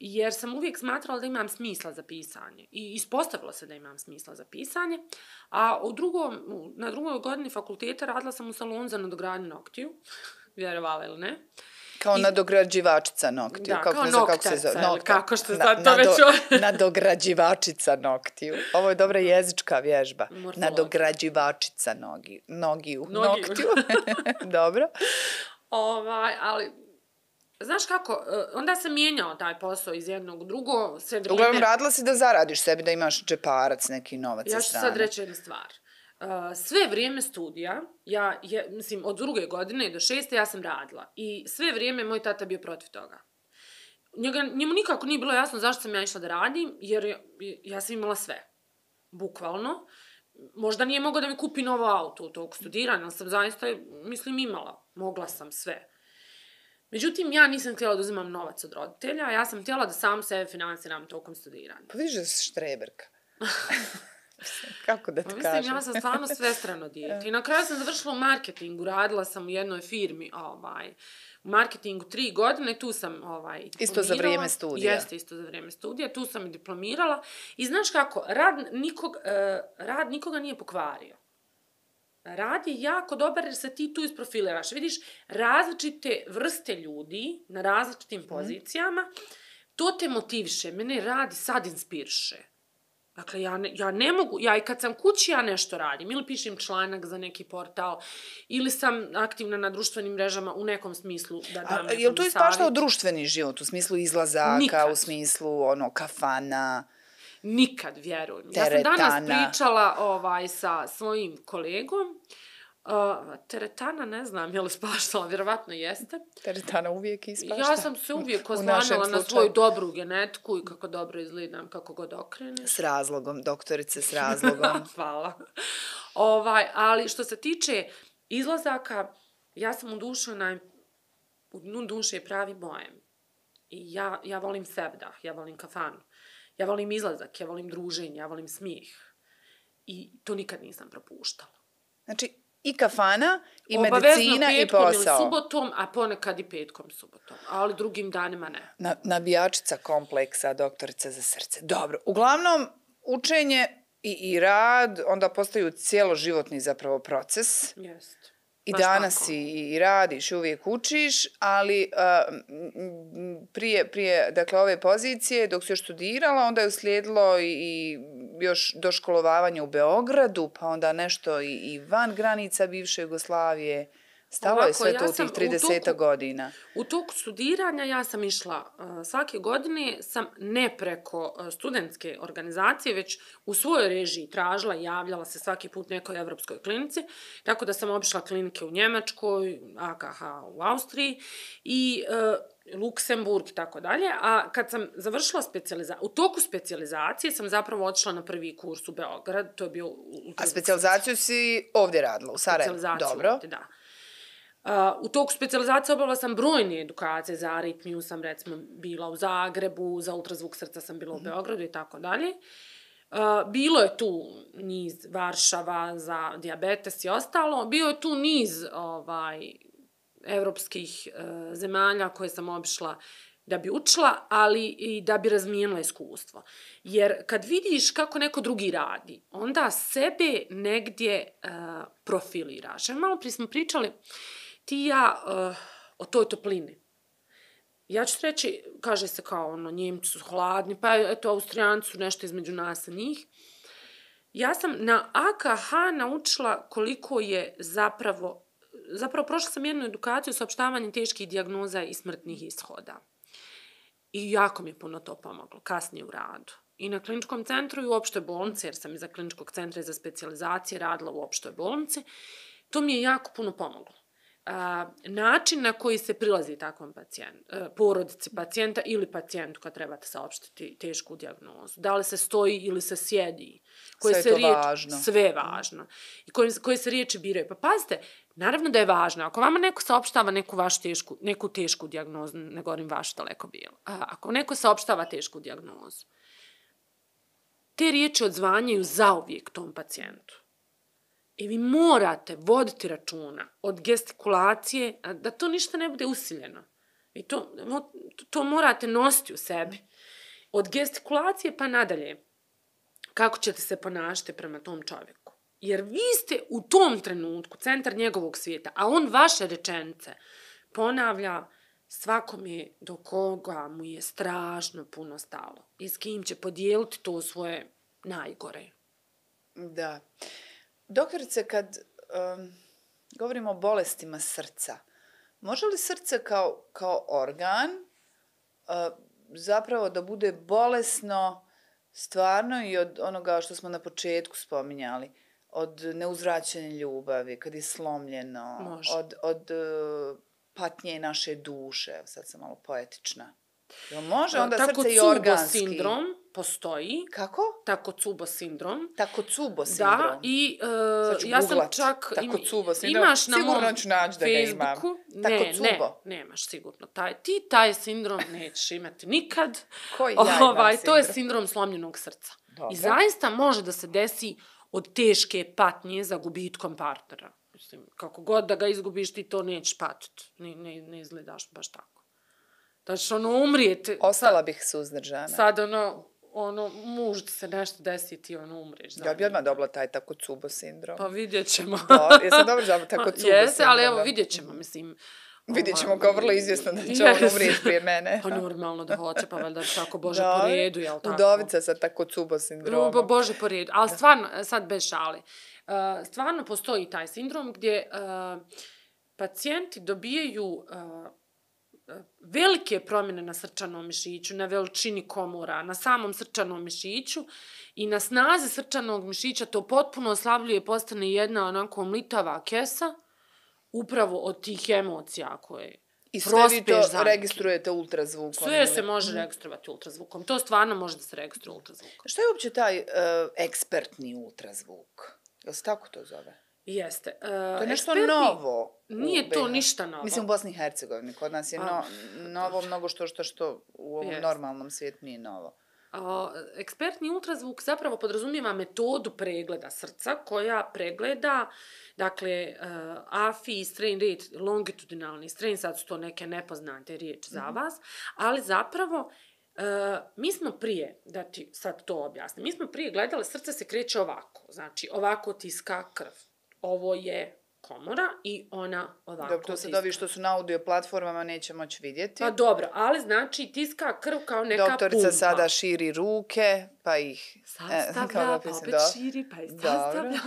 jer sam uvijek smatrala da imam smisla za pisanje. I ispostavilo se da imam smisla za pisanje. A u drugom, na drugoj godini fakulteta radila sam u salonu za nadogradnju noktiju. Vjerovala ili ne. Kao I, nadograđivačica noktiju. Da, kako kao ne znam noktaca, kako se zove. Nokta. Kako što Na, sad to nado, već... nadograđivačica noktiju. Ovo je dobra jezička vježba. Morfologija. Nadograđivačica nogi, nogiju. Nogiju. Noktiju. Dobro. Ovaj, ali... Znaš kako, onda se mijenjao taj posao iz jednog u drugo, sve vrijeme... Uglavnom radila si da zaradiš sebi, da imaš džeparac, neki novac sa strane. Ja ću sad reći jednu stvar. Sve vrijeme studija, ja, je, mislim, od druge godine do šeste ja sam radila. I sve vrijeme moj tata bio protiv toga. Njega, njemu nikako nije bilo jasno zašto sam ja išla da radim, jer ja, ja sam imala sve. Bukvalno. Možda nije mogao da mi kupi novo auto u tog studiranja, ali sam zaista, mislim, imala. Mogla sam sve. Međutim, ja nisam htjela da uzimam novac od roditelja, ja sam htjela da sam sebe financiram tokom studiranja. Pa vidiš da si štreberka. Kako da ti pa, kažem? Mislim, ja sam stvarno svestrano dijete. I na kraju sam završila u marketingu, radila sam u jednoj firmi, ovaj, u marketingu tri godine, tu sam ovaj, diplomirala. Isto za vrijeme studija. Jeste, isto za vrijeme studija, tu sam i diplomirala. I znaš kako, rad, nikog, uh, rad nikoga nije pokvario. Rad je jako dobar jer se ti tu isprofiliraš. Vidiš različite vrste ljudi na različitim pozicijama, to te motiviše. Mene radi sad inspiriše. Dakle, ja ne, ja ne mogu, ja i kad sam kući, ja nešto radim. Ili pišem članak za neki portal, ili sam aktivna na društvenim mrežama u nekom smislu da dam nekom savjet. Je li to ispaštao društveni život, u smislu izlazaka, Nikad. u smislu ono, kafana? Nikad, vjerujem. Teretana. Ja sam danas pričala ovaj, sa svojim kolegom. Uh, teretana, ne znam, je li spaštala, vjerovatno jeste. Teretana uvijek ispašta. Ja sam se uvijek oslanjala na svoju dobru genetiku i kako dobro izgledam, kako god okreneš. S razlogom, doktorice, s razlogom. Hvala. Ovaj, ali što se tiče izlazaka, ja sam u dušu, naj... u dnu duše je pravi bojem. I ja, ja volim sevdah, ja volim kafanu. Ja volim izlazak, ja volim druženje, ja volim smijeh. I to nikad nisam propuštala. Znači, i kafana, i obavezno medicina, i posao. posao. Obavezno subotom, a ponekad i petkom subotom. Ali drugim danima ne. Na, nabijačica kompleksa, doktorica za srce. Dobro, uglavnom, učenje i, i rad onda postaju cijeloživotni zapravo proces. Jest. I Baš danas tako. si i radiš, i uvijek učiš, ali uh, prije, prije dakle, ove pozicije, dok si još studirala, onda je uslijedilo i, i još doškolovavanje u Beogradu, pa onda nešto i, i van granica bivše Jugoslavije. Stalo Ovako, je sve ja to u tih trideset godina. U toku studiranja ja sam išla uh, svake godine, sam ne preko uh, studentske organizacije, već u svojoj režiji tražila i javljala se svaki put nekoj evropskoj klinici, tako da sam obišla klinike u Njemačkoj, A K H u Austriji i uh, Luksemburg i tako dalje, a kad sam završila specijalizaciju, u toku specijalizacije sam zapravo otišla na prvi kurs u Beograd, to je bio... A specijalizaciju si ovdje radila, u Sarajevu? Dobro. Ovdje, da. Uh, u toku specijalizacije obavila sam brojne edukacije, za aritmiju sam recimo bila u Zagrebu, za ultrazvuk srca sam bila u Beogradu i tako dalje. Uh, bilo je tu niz Varšava za dijabetes i ostalo, bio je tu niz ovaj, evropskih uh, zemalja koje sam obišla da bi učila, ali i da bi razmijenila iskustvo. Jer kad vidiš kako neko drugi radi, onda sebe negdje uh, profiliraš. Jer malo prije smo pričali ti i ja uh, o toj toplini. Ja ću reći, kaže se kao ono, Njemci su hladni, pa eto, Austrijanci su nešto između nas i njih. Ja sam na A K H naučila koliko je zapravo, zapravo prošla sam jednu edukaciju saopštavanjem teških dijagnoza i smrtnih ishoda. I jako mi je puno to pomoglo, kasnije u radu. I na kliničkom centru i u opštoj bolnici, jer sam iza kliničkog centra i za specijalizacije radila u opštoj bolnici, to mi je jako puno pomoglo. A, način na koji se prilazi takvom pacijentu, porodici pacijenta ili pacijentu kad trebate saopštiti tešku dijagnozu. Da li se stoji ili se sjedi. Koje sve se je to riječ, važno. Sve je važno. I koje, koje se riječi biraju. Pa pazite, naravno da je važno. Ako vama neko saopštava neku vašu tešku, neku tešku dijagnozu, ne govorim vašu daleko bilo. A, ako neko saopštava tešku dijagnozu, te riječi odzvanjaju zauvijek tom pacijentu. I vi morate voditi računa od gestikulacije, da to ništa ne bude usiljeno. I to, to morate nositi u sebi. Od gestikulacije pa nadalje. Kako ćete se ponašati prema tom čovjeku. Jer vi ste u tom trenutku centar njegovog svijeta, a on vaše rečenice ponavlja svakome do koga mu je strašno puno stalo i s kim će podijeliti to svoje najgore. Da. Doktorice, kad um, govorimo o bolestima srca, može li srce kao, kao organ uh, zapravo da bude bolesno stvarno i od onoga što smo na početku spominjali, od neuzvraćene ljubavi, kad je slomljeno, Može. od, od uh, patnje naše duše, sad sam malo poetična. Jel može onda Tako srce i organski? Takotsubo sindrom postoji. Kako? Takotsubo sindrom. Takotsubo sindrom. Da, i uh, ću ja sam googlat. čak... Takotsubo sindrom. Imaš na Sigurno mom ću naći da ga imam. Facebooku. Ne, Takotsubo. ne, nemaš sigurno. Taj, ti taj sindrom nećeš imati nikad. Koji ja imam ovaj, sindrom? To je sindrom slomljenog srca. Dobro. I zaista može da se desi od teške patnje za gubitkom partnera. Mislim, kako god da ga izgubiš, ti to nećeš patiti. Ne, ne, ne izgledaš baš tako. Da ćeš ono umrijeti. Ostala bih suzdržana. Sad ono, ono, muž se nešto desi, ti ono umreš. Ja bi odmah dobila taj Takotsubo sindrom. Pa vidjet ćemo. Da, jesam dobro za Takotsubo Jeste, sindrom. ali evo vidjet ćemo, mislim. Vidjet ćemo kao vrlo izvjesno da će on umrijeti prije mene. Pa normalno da hoće, pa valjda tako Bože Da, po redu, jel tako? Udovica sa Takotsubo sindromom. Bo, Bože po redu, ali stvarno, sad bez šale, uh, stvarno postoji taj sindrom gdje uh, pacijenti dobijaju uh, velike promjene na srčanom mišiću, na veličini komora, na samom srčanom mišiću i na snazi srčanog mišića to potpuno oslabljuje, postane jedna onako mlitava kesa, upravo od tih emocija koje I sve vi to za registrujete ultrazvukom? Sve ili? se može registrovati ultrazvukom. To stvarno može da se registruje ultrazvukom. Šta je uopće taj uh, ekspertni ultrazvuk? Jel se tako to zove? Jeste. Uh, To je nešto ekspertni, novo. Nije to ništa novo. Mislim u Bosni i Hercegovini. Kod nas je no, A, novo mnogo što, što, što u ovom Jest. normalnom svijetu nije novo. Uh, ekspertni ultrazvuk zapravo podrazumijeva metodu pregleda srca koja pregleda, dakle, uh, A F I, strain rate, longitudinalni strain, sad su to neke nepoznate riječi za Mhm. vas, ali zapravo uh, mi smo prije, da ti sad to objasnim, mi smo prije gledali, srce se kreće ovako, znači ovako tiska krv. Ovo je komora i ona ovako Dobro, to sad tiska. ovi što su na audio platformama neće moći vidjeti. Pa dobro, ali znači tiska krv kao neka Doktorica pumpa. sada širi ruke, pa ih... Sastavlja, kao da pa pisam, opet da. širi, pa i Dobro. sastavlja.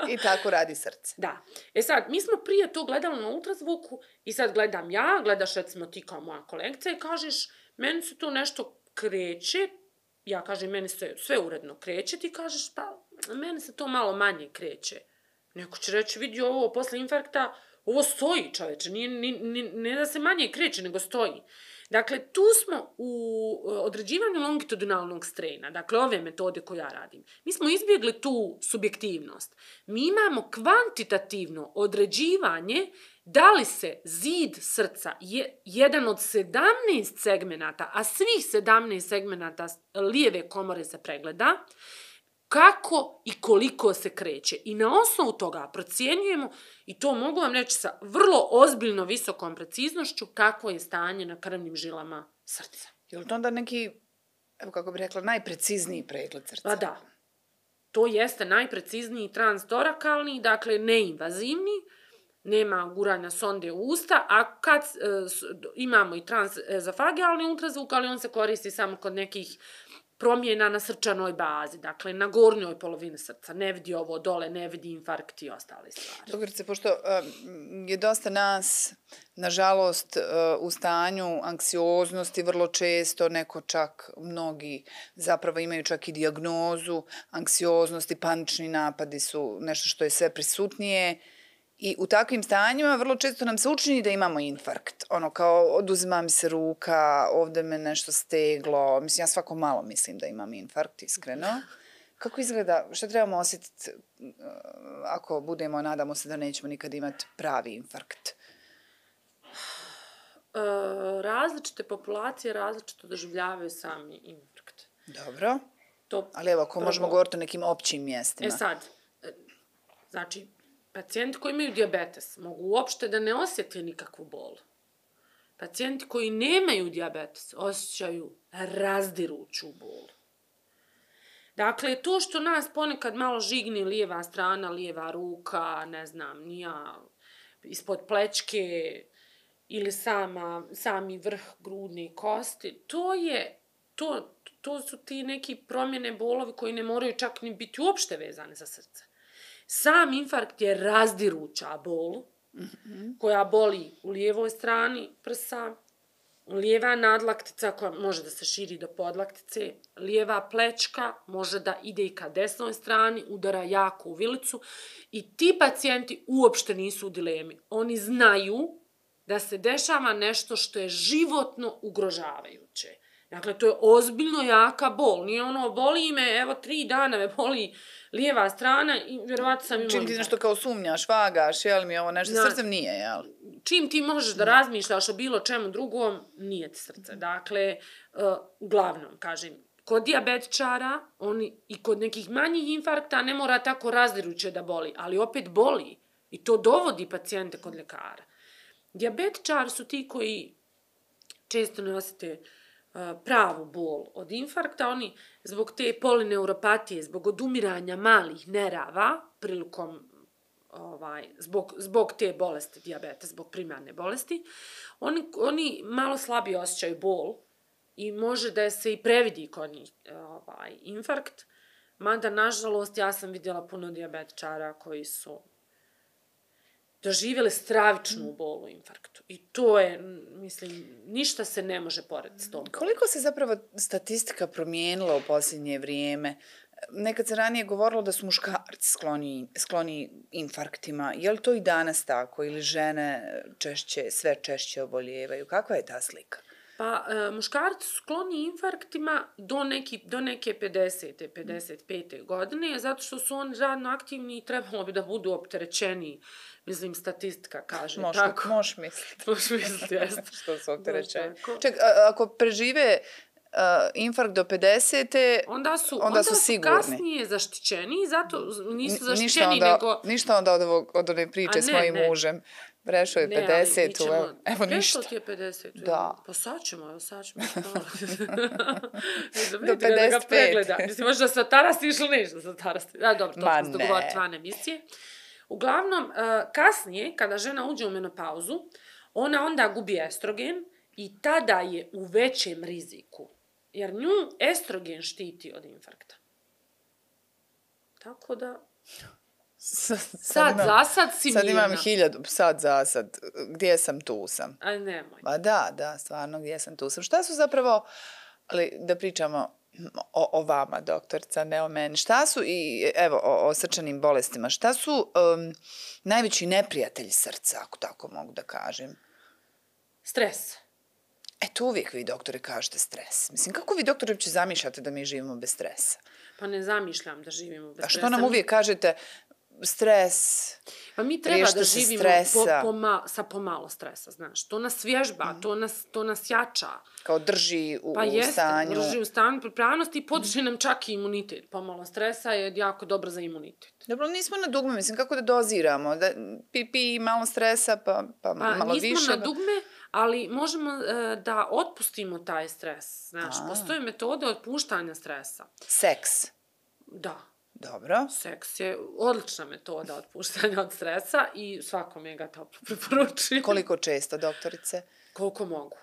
I tako radi srce. Da. E sad, mi smo prije to gledali na ultrazvuku i sad gledam ja, gledaš recimo ti kao moja kolegica i kažeš, meni se to nešto kreće, ja kažem, meni se sve uredno kreće, ti kažeš, pa meni se to malo manje kreće. Neko će reći, vidi ovo posle infarkta, ovo stoji, čoveče, nije, ni, ni, ne da se manje kreće, nego stoji. Dakle, tu smo u određivanju longitudinalnog straina, dakle ove metode koje ja radim. Mi smo izbjegli tu subjektivnost. Mi imamo kvantitativno određivanje da li se zid srca je jedan od sedamnaest segmenata, a svih sedamnaest segmenata lijeve komore se pregleda, kako i koliko se kreće. I na osnovu toga procjenjujemo, i to mogu vam reći sa vrlo ozbiljno visokom preciznošću, kakvo je stanje na krvnim žilama srca. Je li to onda neki, evo kako bih rekla, najprecizniji pregled srca? Pa da. To jeste najprecizniji transtorakalni, dakle neinvazivni, nema guranja sonde u usta, a kad e, s, imamo i transezofagealni ultrazvuk, ali on se koristi samo kod nekih promjena na srčanoj bazi, dakle na gornjoj polovini srca, ne vidi ovo dole, ne vidi infarkt i ostale stvari. Doktorice, pošto um, je dosta nas, nažalost, uh, u stanju anksioznosti, vrlo često, neko čak, mnogi zapravo imaju čak i dijagnozu anksioznosti, panični napadi su nešto što je sve prisutnije. I u takvim stanjima vrlo često nam se učini da imamo infarkt. Ono kao oduzima mi se ruka, ovdje me nešto steglo. Mislim, ja svako malo mislim da imam infarkt, iskreno. Kako izgleda, šta trebamo osjetiti ako budemo, nadamo se da nećemo nikad imati pravi infarkt? E, različite populacije različito doživljavaju sami infarkt. Dobro. To Ali evo, ako prvo, možemo govoriti o nekim općim mjestima. E sad, znači, pacijenti koji imaju dijabetes mogu uopšte da ne osjete nikakvu bol. pacijenti koji nemaju dijabetes osjećaju razdiruću bol. Dakle, to što nas ponekad malo žigne lijeva strana, lijeva ruka, ne znam, nija ispod plećke ili sama, sami vrh grudne kosti, to je, to, to su ti neki promjene bolovi koji ne moraju čak ni biti uopšte vezane za srce. Sam infarkt je razdiruća bol, mm-hmm. koja boli u lijevoj strani prsa, lijeva nadlaktica koja može da se širi do podlaktice, lijeva plećka može da ide i ka desnoj strani, udara jako u vilicu i ti pacijenti uopšte nisu u dilemi. Oni znaju da se dešava nešto što je životno ugrožavajuće. Dakle, to je ozbiljno jaka bol. Nije ono, boli me, evo, tri dana me boli lijeva strana i vjerovatno sam imala... Čim ti nešto kao sumnjaš, vagaš, jel mi ovo nešto, znači, srcem nije, jel? Čim ti možeš da razmišljaš o bilo čemu drugom, nije ti srce. Dakle, uh, uglavnom, kažem, kod dijabetičara, oni i kod nekih manjih infarkta ne mora tako razdiruće da boli, ali opet boli. I to dovodi pacijente kod ljekara. Dijabetičari su ti koji često ne osjete pravu bol od infarkta, oni zbog te polineuropatije, zbog odumiranja malih nerava, prilikom, ovaj, zbog, zbog te bolesti dijabeta, zbog primarne bolesti, oni, oni malo slabije osjećaju bol i može da se i previdi kod njih ovaj, infarkt, mada, nažalost, ja sam vidjela puno dijabetičara koji su doživjeli stravičnu bol u infarktu. I to je, mislim, ništa se ne može porediti s tom. Koliko se zapravo statistika promijenila u posljednje vrijeme? Nekad se ranije govorilo da su muškarci skloni, skloni infarktima. Je li to i danas tako? Ili žene češće, sve češće oboljevaju? Kakva je ta slika? Pa, e, muškarci su skloni infarktima do, neki, do neke pedesete, pedeset pete godine, zato što su oni radno aktivni i trebalo bi da budu opterećeni. Mislim, statistika kaže Moš, tako. Možeš misliti. Možeš misliti, jeste. Što su opterećeni. Ček, a, ako prežive uh, infarkt do pedesete, onda su, onda onda su su sigurni. Kasnije zaštićeni, zato nisu zaštićeni, ništa onda, nego... Ništa onda od, ovog, od one priče ne, s mojim ne. mužem. Prešao je pedesetu, ćemo, evo, evo ništa. Prešao ti je pedesetu. Da. Pa sad ćemo, evo sad ćemo. Do pedeset pet. Mislim, možda se tarasiš ili nešto se tarasiš. Da, dobro, to Ma smo se dogovoriti van emisije. Uglavnom, kasnije, kada žena uđe u menopauzu, ona onda gubi estrogen i tada je u većem riziku. Jer nju estrogen štiti od infarkta. Tako da... Sad, sad, sad imam, za sad si sad mirna. imam hiljadu, sad za sad, gdje sam, tu sam. Aj, nemoj. Pa da, da, stvarno, gdje sam, tu sam. Šta su zapravo, ali da pričamo o, o vama, doktorica, ne o meni, šta su, i evo, o, o srčanim bolestima, šta su um, najveći neprijatelji srca, ako tako mogu da kažem? Stres. E, to uvijek vi, doktori, kažete stres. Mislim, kako vi, doktori, uopće zamišljate da mi živimo bez stresa? Pa ne zamišljam da živimo bez stresa. A što nam uvijek kažete, stres, pa mi treba da živimo po, po ma, sa pomalo stresa, znaš. To nas vježba, mm. to, nas, to nas jača. Kao drži u, pa u jeste, stanju. Pa drži u stanju pripravnosti i podiže nam čak i imunitet. Pomalo stresa je jako dobro za imunitet. Dobro, nismo na dugme, mislim, kako da doziramo? Da pi, pi malo stresa, pa, pa, pa malo više? Pa nismo na dugme, ali možemo uh, da otpustimo taj stres. Znaš, A. postoje metode otpuštanja stresa. Seks? Da. Dobro. Seks je odlična metoda otpuštanja od stresa i svakome ga toplo preporučujem. Koliko često, doktorice? Koliko mogu.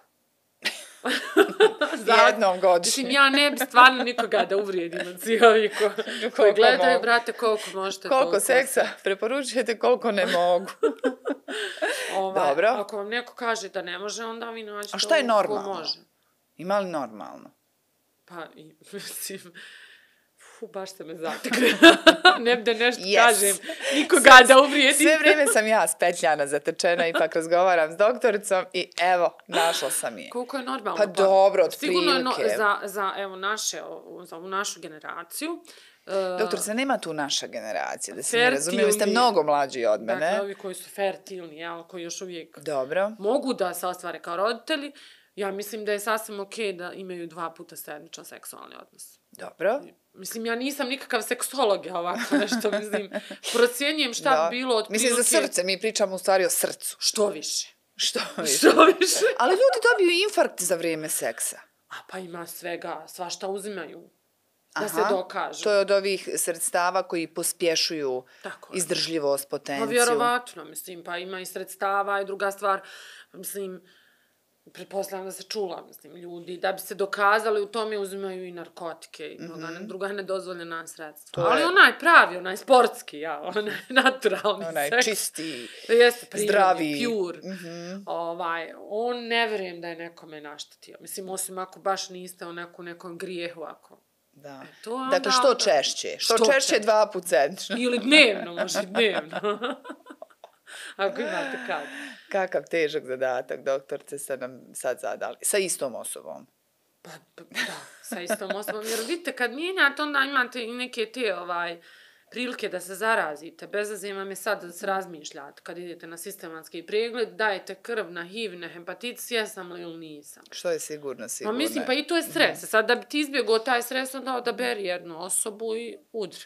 Jednom godišnje. Mislim, ja ne bi stvarno nikoga da uvrijedim od svi ovi ko, koji gledaju, mogu. Brate, koliko možete. Koliko seksa se. Preporučujete, koliko ne mogu. Ovaj, Dobro. Ako vam neko kaže da ne može, onda vi nađete. A šta je normalno? Ko može. Ima li normalno? Pa, mislim... Fu, baš ste me zatekli. Ne bi da nešto yes. kažem. Nikoga sve, da uvrijedim. Sve vrijeme sam ja spetljana, zatečena, ipak razgovaram s doktoricom i evo, našla sam je. Koliko je normalno? Pa, pa dobro, od sigurno prilike. Je no, za, za, evo, naše, za ovu našu generaciju. Doktorica, nema tu naša generacija, da se ne razumije, vi ste mnogo mlađi od mene. Dakle, ovi koji su fertilni, jel, koji još uvijek dobro. Mogu da se ostvare kao roditelji, ja mislim da je sasvim okej okay da imaju dva puta sedmičan seksualni odnos. Dobro. Mislim, ja nisam nikakav seksolog, ja ovako nešto, mislim, procjenjujem šta bi bilo od mislim, prilike... za srce, mi pričamo u stvari o srcu. Što više. Što više. Što više. Ali ljudi dobiju infarkt za vrijeme seksa. A pa ima svega, svašta uzimaju. Da Aha, se dokaže. to je od ovih sredstava koji pospješuju Tako je. izdržljivost, potenciju. Pa vjerovatno, mislim, pa ima i sredstava i druga stvar, mislim, pretpostavljam da se čula, mislim, ljudi, da bi se dokazali u tome uzimaju i narkotike i mnoga mm-hmm. druga nedozvoljena sredstva. To Ali je... onaj pravi, onaj sportski, ja, onaj naturalni onaj seks. Čisti, jeste prirodni, zdravi. pure. Mm-hmm. Ovaj, on ne vjerujem da je nekome naštetio. Mislim, osim ako baš niste u neku, nekom grijehu, ako... Da. E, to dakle, što onda... češće? Što, što češće dva put sedmično. Ili dnevno, može dnevno. Ako imate kad. Kakav težak zadatak, doktorce, ste nam sad zadali. Sa istom osobom. Pa, pa da, sa istom osobom. Jer vidite, kad mijenjate, onda imate i neke te ovaj, prilike da se zarazite. Bezazim vam je sad da se razmišljate. Kad idete na sistematski pregled, dajete krv na H I V, na hepatitis, jesam li ili nisam. Što je sigurno, sigurno. Pa mislim, pa i to je stres. Mm. Sad da bi ti izbjegao taj stres, onda odaberi jednu osobu i udri.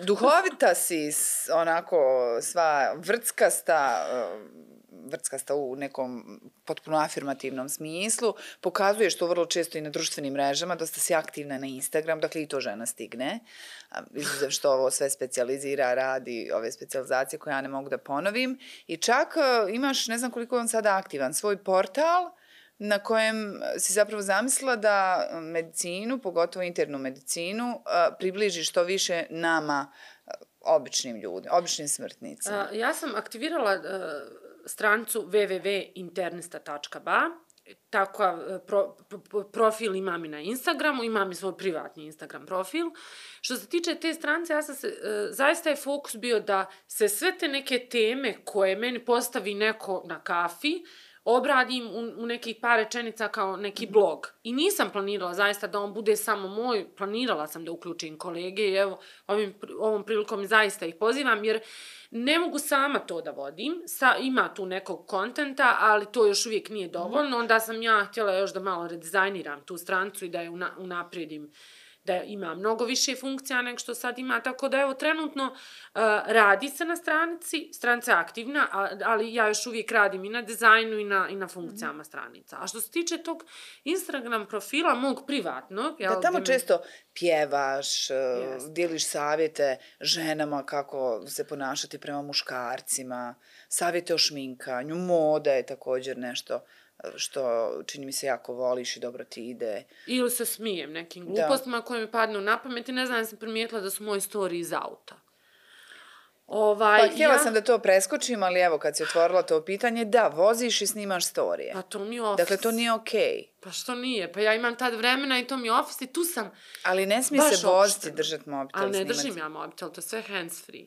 Duhovita si, onako, sva vrckasta, vrckasta u nekom potpuno afirmativnom smislu, pokazuješ to vrlo često i na društvenim mrežama, dosta si aktivna na Instagram, dakle i to žena stigne, izuzev što ovo sve specijalizira, radi ove specijalizacije koje ja ne mogu da ponovim, i čak imaš, ne znam koliko je on sada aktivan, svoj portal na kojem si zapravo zamislila da medicinu, pogotovo internu medicinu, približi što više nama, običnim ljudima, običnim smrtnicima. Ja sam aktivirala uh, stranicu w w w tačka internista tačka b a. Tako pro, pro, profil imam i na Instagramu, imam i svoj privatni Instagram profil. Što se tiče te stranice, ja sam se, uh, zaista je fokus bio da se sve te neke teme koje meni postavi neko na kafi, obradim u, u nekih par rečenica kao neki blog. I nisam planirala zaista da on bude samo moj, planirala sam da uključim kolege i evo, ovim, ovom prilikom zaista ih pozivam, jer ne mogu sama to da vodim, Sa, ima tu nekog kontenta, ali to još uvijek nije dovoljno, onda sam ja htjela još da malo redizajniram tu stranicu i da je una, unaprijedim, da ima mnogo više funkcija nego što sad ima, tako da evo trenutno uh, radi se na stranici, stranica je aktivna, ali ja još uvijek radim i na dizajnu i na, i na funkcijama stranica. A što se tiče tog Instagram profila, mog privatnog... Da, tamo često pjevaš, yes. dijeliš savjete ženama kako se ponašati prema muškarcima, savjete o šminkanju, moda je također nešto što čini mi se jako voliš i dobro ti ide. Ili se smijem nekim glupostima koje mi padnu na pamet i ne znam, ja sam primijetila da su moji storiji iz auta. Ovaj, pa htjela ja... sam da to preskočim, ali evo kad si otvorila to pitanje, da, voziš i snimaš storije. Pa to mi je office. Dakle, to nije okej. Okay. Pa što nije? Pa ja imam tad vremena i to mi je office i tu sam. Ali ne smije se voziti, držati mobitel. Ali ne snimati. držim ja mobitel, to je sve hands free.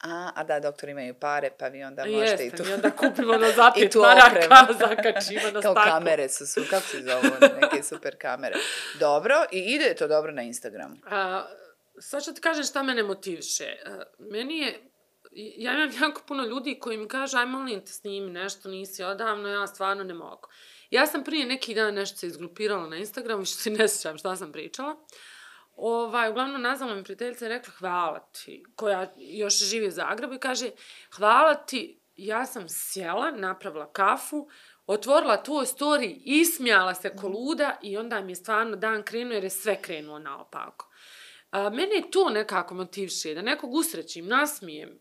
A, a da, doktori imaju pare, pa vi onda možete Jeste, i tu... mi onda kupimo na zapet maraka, zakačimo na staklu. Kao kamere su, su, kako se zovu, neke super kamere. Dobro, i ide to dobro na Instagramu. A, sad ću ti kažem šta mene motiviše. A, meni je, ja imam jako puno ljudi koji mi kažu, aj molim te snimi nešto, nisi odavno, ja stvarno ne mogu. Ja sam prije neki dan nešto se izgrupirala na Instagramu, što si ne sjećam šta sam pričala. Ovaj, uglavnom nazvala mi prijateljica i rekla hvala ti, koja još živi u Zagrebu i kaže hvala ti, ja sam sjela, napravila kafu, otvorila tvoj story, ismijala se ko luda i onda mi je stvarno dan krenuo jer je sve krenulo naopako. A, mene je to nekako motivše, da nekog usrećim, nasmijem.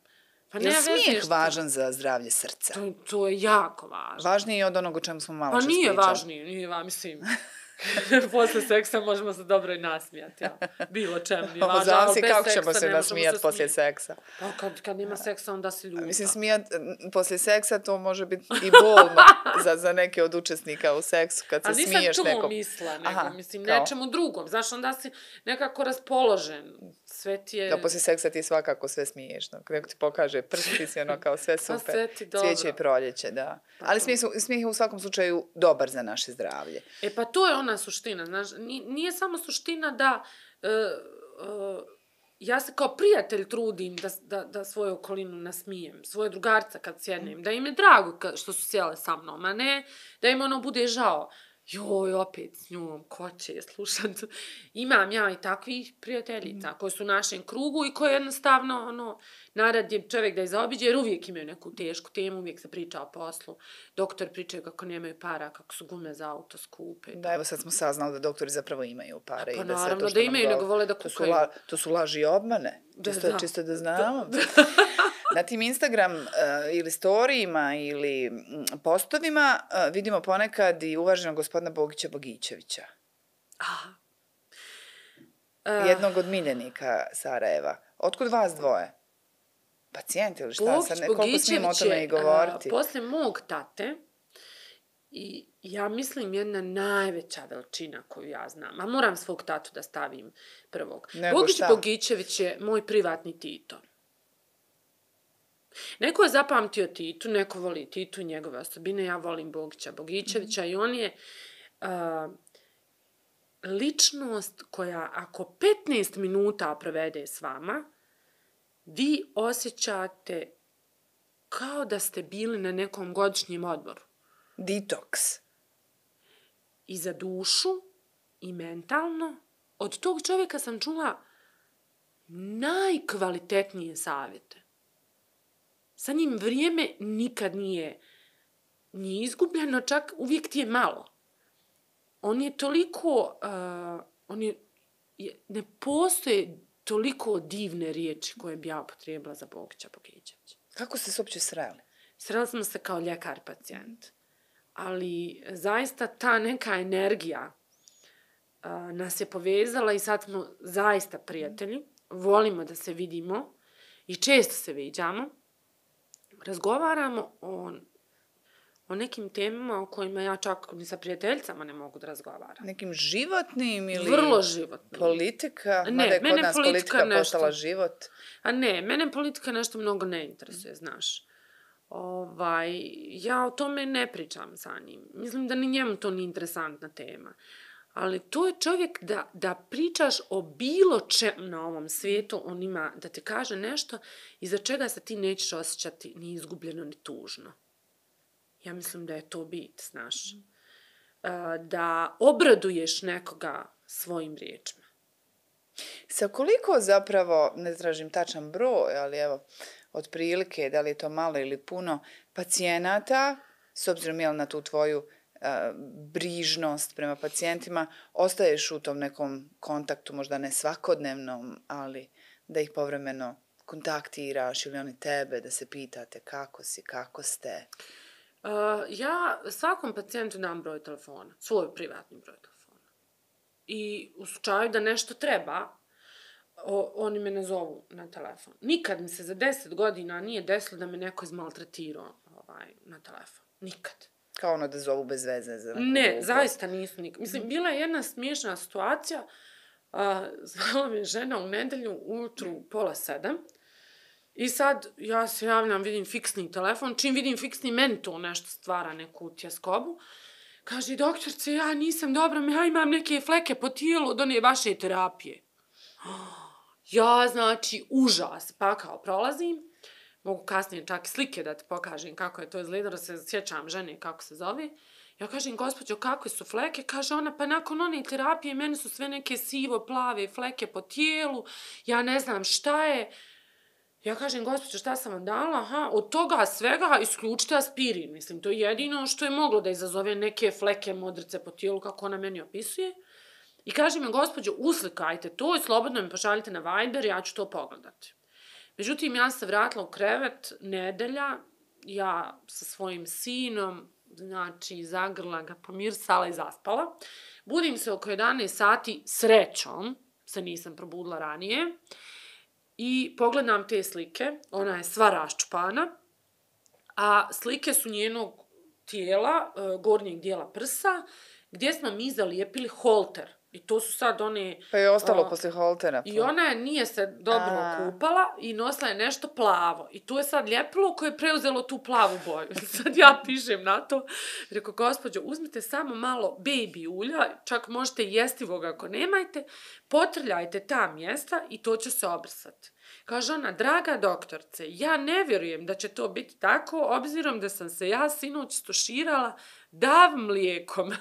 Pa je smijeh važan za zdravlje srca? To, to je jako važno. Važniji od onog o čemu smo malo pa čas nije pričali. Važniji, nije važniji, mislim... Posle seksa možemo se dobro i nasmijati, ja. Bilo čemu, nije važno, ali bez kako seksa ćemo se nasmijati poslije seksa. Pa kad, kad nema seksa, onda se ljuta. Mislim, smijat poslije seksa to može biti i bolno za, za neke od učesnika u seksu, kad se smiješ nekom. A nisam to mislila, nego, Aha, mislim, kao? Nečemu drugom. Znaš, onda si nekako raspoložen. Sve ti je... Da, poslije seksa ti svakako sve smiješ. No. Neko ti pokaže prst, ti si ono kao sve super. Pa sve ti dobro. Cvijeće i proljeće, da. Pa ali smijeh, smijeh je u svakom slučaju dobar za naše zdravlje. E pa to je ona suština, znaš, nije samo suština da uh, uh, ja se kao prijatelj trudim da, da, da svoju okolinu nasmijem, svoje drugarca kad sjednem, da im je drago što su sjele sa mnom, a ne da im ono bude žao. joj, opet s njom, ko će slušat. Imam ja i takvih prijateljica koje su u našem krugu i koje jednostavno, ono, narad je čovjek da je zaobiđe, jer uvijek imaju neku tešku temu, uvijek se priča o poslu. Doktor pričaju kako nemaju para, kako su gume za auto skupe. Da, evo sad smo saznali da doktori zapravo imaju pare. Pa i da naravno sve to da imaju, nego vole da to su, kukaju. la, to su laži i obmane, Da, čisto, da. čisto da znamo. Da. Na tim Instagram uh, ili storijima ili mm, postovima uh, vidimo ponekad i uvaženog gospodina Bogića Bogićevića. Aha. Jednog od miljenika Sarajeva. Otkud vas dvoje? Pacijent ili šta? Bogić Sad ne, koliko smijemo o Bogićević tome je, i govoriti? a, posle mog tate, i ja mislim jedna najveća veličina koju ja znam, a moram svog tatu da stavim prvog. Nego Bogić šta? Bogićević je moj privatni Tito. Neko je zapamtio Titu, neko voli Titu i njegove osobine, ja volim Bogića Bogićevića mm. i on je uh, ličnost koja ako petnaest minuta provede s vama, vi osjećate kao da ste bili na nekom godišnjem odmoru. Detoks. I za dušu, i mentalno. Od tog čovjeka sam čula najkvalitetnije savjete. Sa njim vrijeme nikad nije, nije izgubljeno, čak uvijek ti je malo. On je toliko, uh, on je, je, ne postoje toliko divne riječi koje bi ja upotrijebila za Bogića Bogićevića. Kako ste se uopće sreli? Sreli smo se kao ljekar pacijent. Ali zaista ta neka energija uh, nas je povezala i sad smo zaista prijatelji. Volimo da se vidimo i često se viđamo. Razgovaramo o, o nekim temama o kojima ja čak ni sa prijateljicama ne mogu da razgovaram. Nekim životnim ili... Vrlo životnim. Politika? Ne, mada je mene kod nas politika politika nešto... postala život. A ne, mene politika nešto mnogo ne interesuje, znaš. Ovaj, ja o tome ne pričam sa njim. Mislim da ni njemu to nije interesantna tema. Ali to je čovjek da, da pričaš o bilo čem na ovom svijetu, on ima da te kaže nešto iza čega se ti nećeš osjećati ni izgubljeno, ni tužno. Ja mislim da je to bit, znaš. Mm. Da obraduješ nekoga svojim riječima. Sa koliko zapravo, ne tražim tačan broj, ali evo, otprilike, da li je to malo ili puno, pacijenata, s obzirom jel na tu tvoju uh, brižnost prema pacijentima, ostaješ u tom nekom kontaktu, možda ne svakodnevnom, ali da ih povremeno kontaktiraš ili oni tebe, da se pitate kako si, kako ste? Uh, ja svakom pacijentu dam broj telefona, svoj privatni broj telefona. I u slučaju da nešto treba, o, oni me ne zovu na telefon. Nikad mi se za deset godina nije desilo da me neko izmaltretirao ovaj, na telefon. Nikad. Kao ono da zovu bez veze za neku Ne, glupost. zaista nisu nikad. Mislim, bila je jedna smiješna situacija. A, zvala me žena u nedelju ujutru pola sedam. I sad ja se javljam, vidim fiksni telefon. Čim vidim fiksni, meni to nešto stvara neku tjeskobu. Kaže, doktorce, ja nisam dobra, ja imam neke fleke po tijelu od one vaše terapije. Ja, znači, užas. Pa kao prolazim. Mogu kasnije čak i slike da ti pokažem kako je to izgledalo, da se sjećam žene kako se zove. Ja kažem, gospođo, kakve su fleke? Kaže ona, pa nakon one terapije meni su sve neke sivo, plave fleke po tijelu. Ja ne znam šta je. Ja kažem, gospođo, šta sam vam dala? Aha, od toga svega isključite aspirin. Mislim, to je jedino što je moglo da izazove neke fleke, modrice po tijelu, kako ona meni opisuje. I kaže mi, gospođo, uslikajte to i slobodno mi pošaljite na Viber, ja ću to pogledati. Međutim, ja sam se vratila u krevet nedelja, ja sa svojim sinom, znači, zagrla ga, pomirsala i zaspala. Budim se oko jedanaest sati, srećom, se nisam probudila ranije, i pogledam te slike, ona je sva raščupana, a slike su njenog tijela, gornjeg dijela prsa, gdje smo mi zalijepili holter. I to su sad one... Pa je ostalo uh, poslije holtera. I ona je, nije se dobro A. kupala i nosila je nešto plavo. I tu je sad ljepilo koje je preuzelo tu plavu boju. Sad ja pišem na to. Rekao, gospođo, uzmite samo malo baby ulja, čak možete jestivoga ako nemajte, potrljajte ta mjesta i to će se obrisati. Kaže ona, draga doktorce, ja ne vjerujem da će to biti tako, obzirom da sam se ja sinoć stuširala dav mlijekom.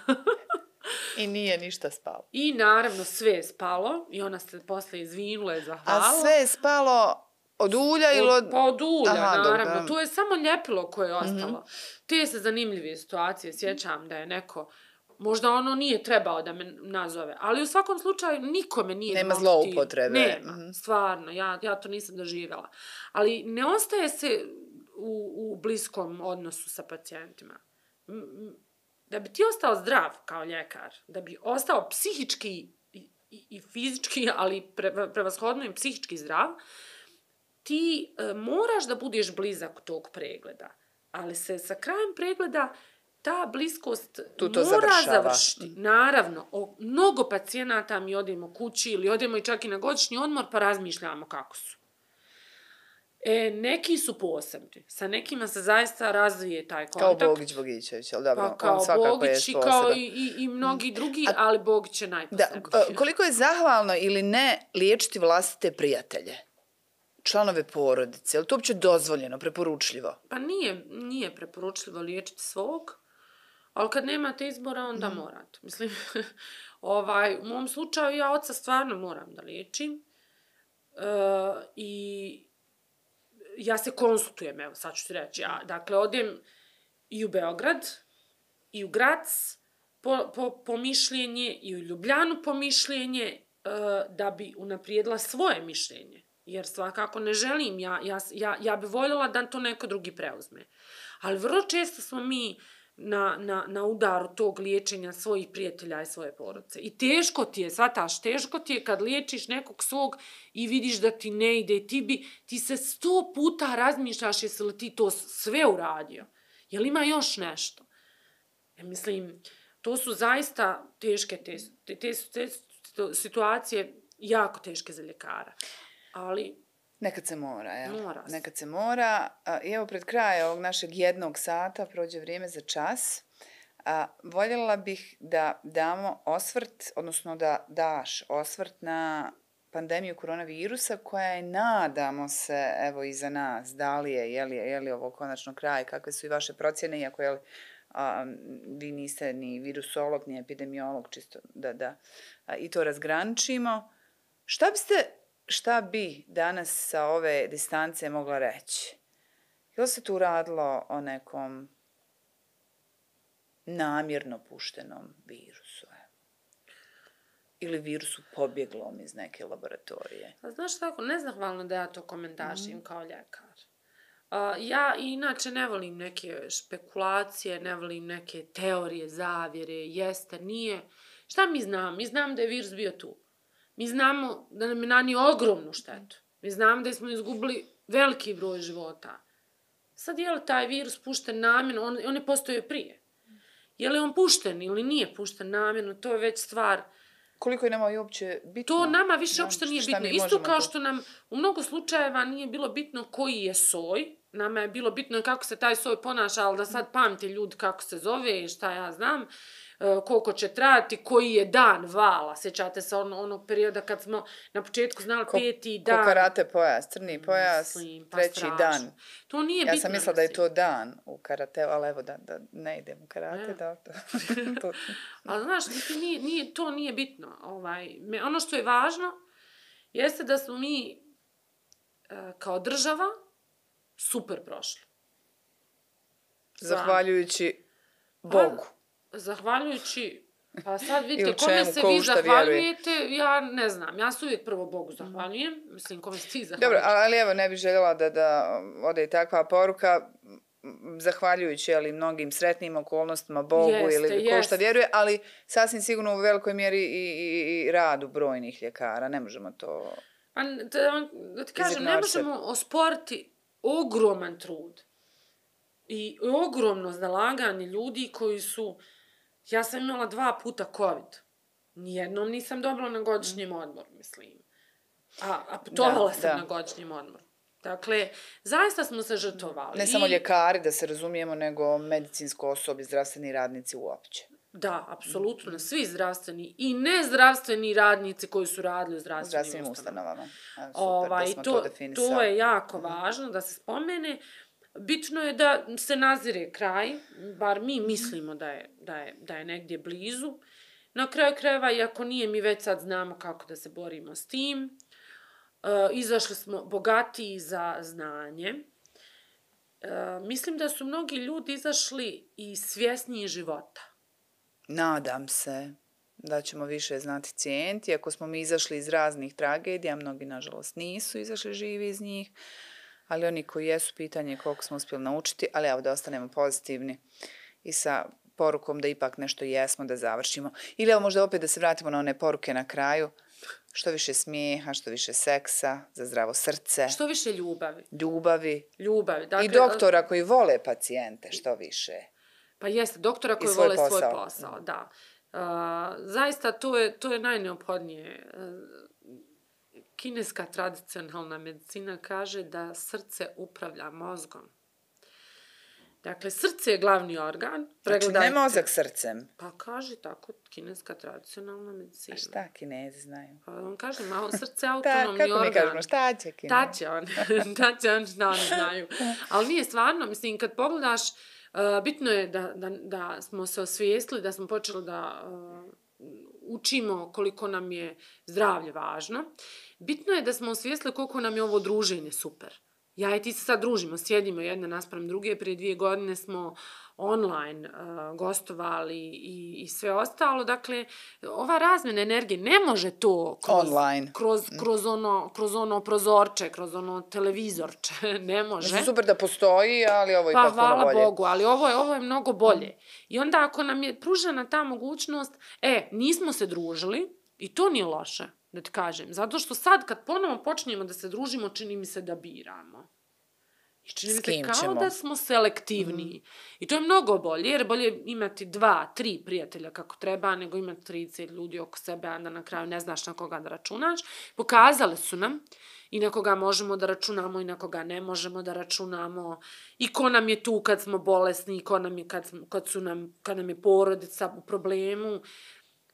I nije ništa spalo. I naravno sve je spalo i ona se posle izvinula i zahvalila. A sve je spalo od ulja ili od... Pa od ulja, Aha, naravno. dobro. To je samo ljepilo koje je ostalo. Mm-hmm. Te se zanimljive situacije sjećam da je neko... Možda ono nije trebao da me nazove, ali u svakom slučaju nikome nije... Nema zloupotrebe. Nema, mm-hmm. stvarno, ja, ja to nisam doživjela. Ali ne ostaje se u, u bliskom odnosu sa pacijentima. Da bi ti ostao zdrav kao ljekar, da bi ostao psihički i, i, i fizički, ali pre, prevashodno i psihički zdrav, ti e, moraš da budeš blizak tog pregleda. Ali se sa krajem pregleda ta bliskost tu to mora završava. završiti. Naravno, o mnogo pacijenata mi odemo kući ili odemo i čak i na godišnji odmor pa razmišljamo kako su. E, neki su posebni. Sa nekima se zaista razvije taj kontakt. Kao Bogić Bogićević, ali dobro, pa, kao on svakako Bogić je i kao i, i, i mnogi drugi, A, ali Bogić je najposebniji. Da, koliko je zahvalno ili ne liječiti vlastite prijatelje? Članove porodice, je li to uopće dozvoljeno, preporučljivo? Pa nije, nije preporučljivo liječiti svog, ali kad nemate izbora, onda mm. morate. Mislim, ovaj, u mom slučaju ja oca stvarno moram da liječim uh, i ja se konsultujem, evo sad ću ti reći, ja dakle odem i u Beograd, i u Grac po, po, po mišljenje, i u Ljubljanu po mišljenje, uh, da bi unaprijedila svoje mišljenje. Jer svakako ne želim, ja, ja, ja, ja bi voljela da to neko drugi preuzme. Ali vrlo često smo mi na, na, na udaru tog liječenja svojih prijatelja i svoje porodice. I teško ti je, shvataš, teško ti je kad liječiš nekog svog i vidiš da ti ne ide i ti bi, ti se sto puta razmišljaš jesi li ti to sve uradio. Jel ima još nešto? Ja mislim, to su zaista teške te, te, te, te, te situacije, jako teške za ljekara. Ali... Nekad se mora, ja. Mora se. Nekad se mora. I evo pred kraj ovog našeg jednog sata prođe vrijeme za čas. A, voljela bih da damo osvrt, odnosno da daš osvrt na pandemiju koronavirusa koja je, nadamo se, evo iza nas, da li je, je li, je li ovo konačno kraj, kakve su i vaše procjene, iako je li, a, vi niste ni virusolog, ni epidemiolog, čisto da, da a, i to razgraničimo. Šta biste... Šta bi danas sa ove distance mogla reći? Je li se tu radilo o nekom namjerno puštenom virusu? Ili virusu pobjeglom iz neke laboratorije? A znaš tako, nezahvalno da ja to komentašim mm. kao ljekar. Uh, ja inače ne volim neke špekulacije, ne volim neke teorije, zavjere, jeste, nije. Šta mi znam? Mi znam da je virus bio tu. Mi znamo da nam je nanio ogromnu štetu. Mi znamo da smo izgubili veliki broj života. Sad je li taj virus pušten namjerno? On, on je postojao prije. Je li on pušten ili nije pušten namjerno? To je već stvar... Koliko je nama i uopće bitno? To nama više uopšte nije bitno. Isto kao što nam u mnogo slučajeva nije bilo bitno koji je soj. Nama je bilo bitno kako se taj soj ponaša, ali da sad pamti ljudi kako se zove i šta ja znam. Koliko će trajati, koji je dan vala. Sjećate se on, onog perioda kad smo na početku znali ko, peti dan. Ko karate pojas, crni pojas, Mislim, pa treći strašno. dan. To nije ja bitno. Ja sam mislila da je to dan u karateu, ali evo da, da ne idem u karate. Da, to. to. Ali znaš, nije, nije, to nije bitno. Ovaj, me, ono što je važno jeste da smo mi e, kao država super prošli. Zahvaljujući Bogu. Pa, zahvaljujući, pa sad vidite, kome se vi zahvaljujete, vjeruje. Ja ne znam, ja se uvijek prvo Bogu zahvaljujem, mislim, kome se ti zahvaljuješ. Dobro, ali evo, ne bih željela da, da ode i takva poruka, zahvaljujući ali, mnogim sretnim okolnostima Bogu jeste, ili ko šta vjeruje, ali sasvim sigurno u velikoj mjeri i, i, i radu brojnih ljekara, ne možemo to... Pa, da, da ti kažem, ne možemo osporiti ogroman trud i ogromno zalaganje ljudi koji su... Ja sam imala dva puta COVID. Nijednom nisam dobila na godišnjem odmoru, mislim. A, a putovala sam da. na godišnjem odmoru. Dakle, zaista smo se žrtvovali. Ne I... samo ljekari, da se razumijemo, nego medicinsko osoblje, zdravstveni radnici uopće. Da, apsolutno. Mm. Svi zdravstveni i nezdravstveni radnici koji su radili u zdravstvenim, zdravstvenim ustanovama. ustanovama. Ovaj, to, to, to je jako važno da se spomene. Bitno je da se nazire kraj, bar mi mislimo da je, da je, da je negdje blizu. Na kraju krajeva, iako nije, mi već sad znamo kako da se borimo s tim. E, izašli smo bogatiji za znanje. E, mislim da su mnogi ljudi izašli i svjesniji života. Nadam se da ćemo više znati cijeniti. Ako smo mi izašli iz raznih tragedija, mnogi nažalost nisu izašli živi iz njih, ali oni koji jesu, pitanje je koliko smo uspjeli naučiti, ali evo da ostanemo pozitivni i sa porukom da ipak nešto jesmo, da završimo. Ili evo možda opet da se vratimo na one poruke na kraju. Što više smijeha, što više seksa, za zdravo srce. Što više ljubavi. Ljubavi. Ljubavi. Dakle, i doktora koji vole pacijente, što više. Pa jeste, doktora koji svoj vole posao. svoj posao, da. Uh, zaista to je, to je najneophodnije. Uh, kineska tradicionalna medicina kaže da srce upravlja mozgom. Dakle, srce je glavni organ. Znači, ne mozak srcem. Pa kaže tako kineska tradicionalna medicina. A šta Kinezi znaju? Pa on kaže, malo srce je autonomni organ. Kako mi kažemo, šta će Kinezi? Ta će on, ta će on šta oni znaju. Ali nije stvarno, mislim, kad pogledaš, uh, bitno je da, da, da smo se osvijestili, da smo počeli da uh, učimo koliko nam je zdravlje važno. Bitno je da smo osvijestili koliko nam je ovo druženje super. Ja i ti se sad družimo, sjedimo jedna naspram druge, prije dvije godine smo online uh, gostovali i, i sve ostalo. Dakle, ova razmjena energije ne može to kroz, online. Kroz, kroz, ono, kroz ono prozorče, kroz ono televizorče, ne može. Znači, super da postoji, ali ovo je pa, ipak puno bolje. Pa hvala Bogu, ali ovo je, ovo je mnogo bolje. I onda ako nam je pružena ta mogućnost, e, nismo se družili i to nije loše. Da ti kažem. Zato što sad kad ponovo počinjemo da se družimo, čini mi se da biramo. I čini mi se kao ćemo? Da smo selektivniji. Mm. I to je mnogo bolje, jer bolje imati dva, tri prijatelja kako treba, nego imati trideset ljudi oko sebe, a da na kraju ne znaš na koga da računaš. Pokazali su nam i na koga možemo da računamo i na koga ne možemo da računamo. I ko nam je tu kad smo bolesni, i ko nam je kad, kad, su nam, kad nam je porodica u problemu.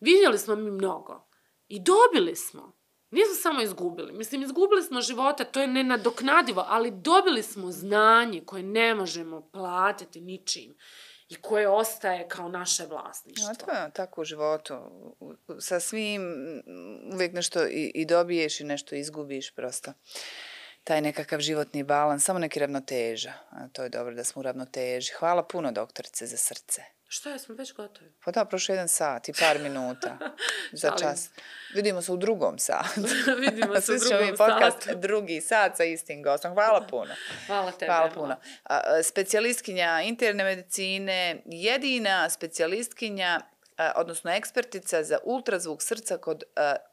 Vidjeli smo mi mnogo. I dobili smo. Nismo samo izgubili. Mislim, izgubili smo života, to je nenadoknadivo, ali dobili smo znanje koje ne možemo platiti ničim i koje ostaje kao naše vlasništvo. A to je tako u životu. Sa svim uvijek nešto i, i dobiješ i nešto izgubiš prosto. Taj nekakav životni balans, samo neki ravnoteža. A to je dobro da smo u ravnoteži. Hvala puno, doktorice, za srce. Što je, smo već gotovi? Pa da, prošlo jedan sat i par minuta za čas. Vidimo se u drugom satu. Vidimo se u drugom podcast, satu. Drugi sat sa istim gostom. Hvala puno. Hvala tebi. Hvala puno. Specijalistkinja interne medicine, jedina specijalistkinja, odnosno ekspertica za ultrazvuk srca kod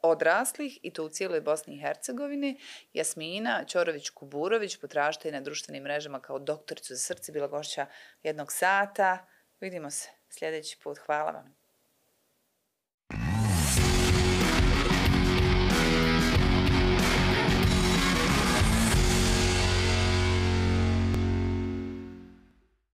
odraslih i to u cijeloj Bosni i Hercegovini. Jasmina Ćorović-Kuburović, potražite i na društvenim mrežama kao doktoricu za srce, bila gošća jednog sata. Vidimo se sljedeći put. Hvala vam.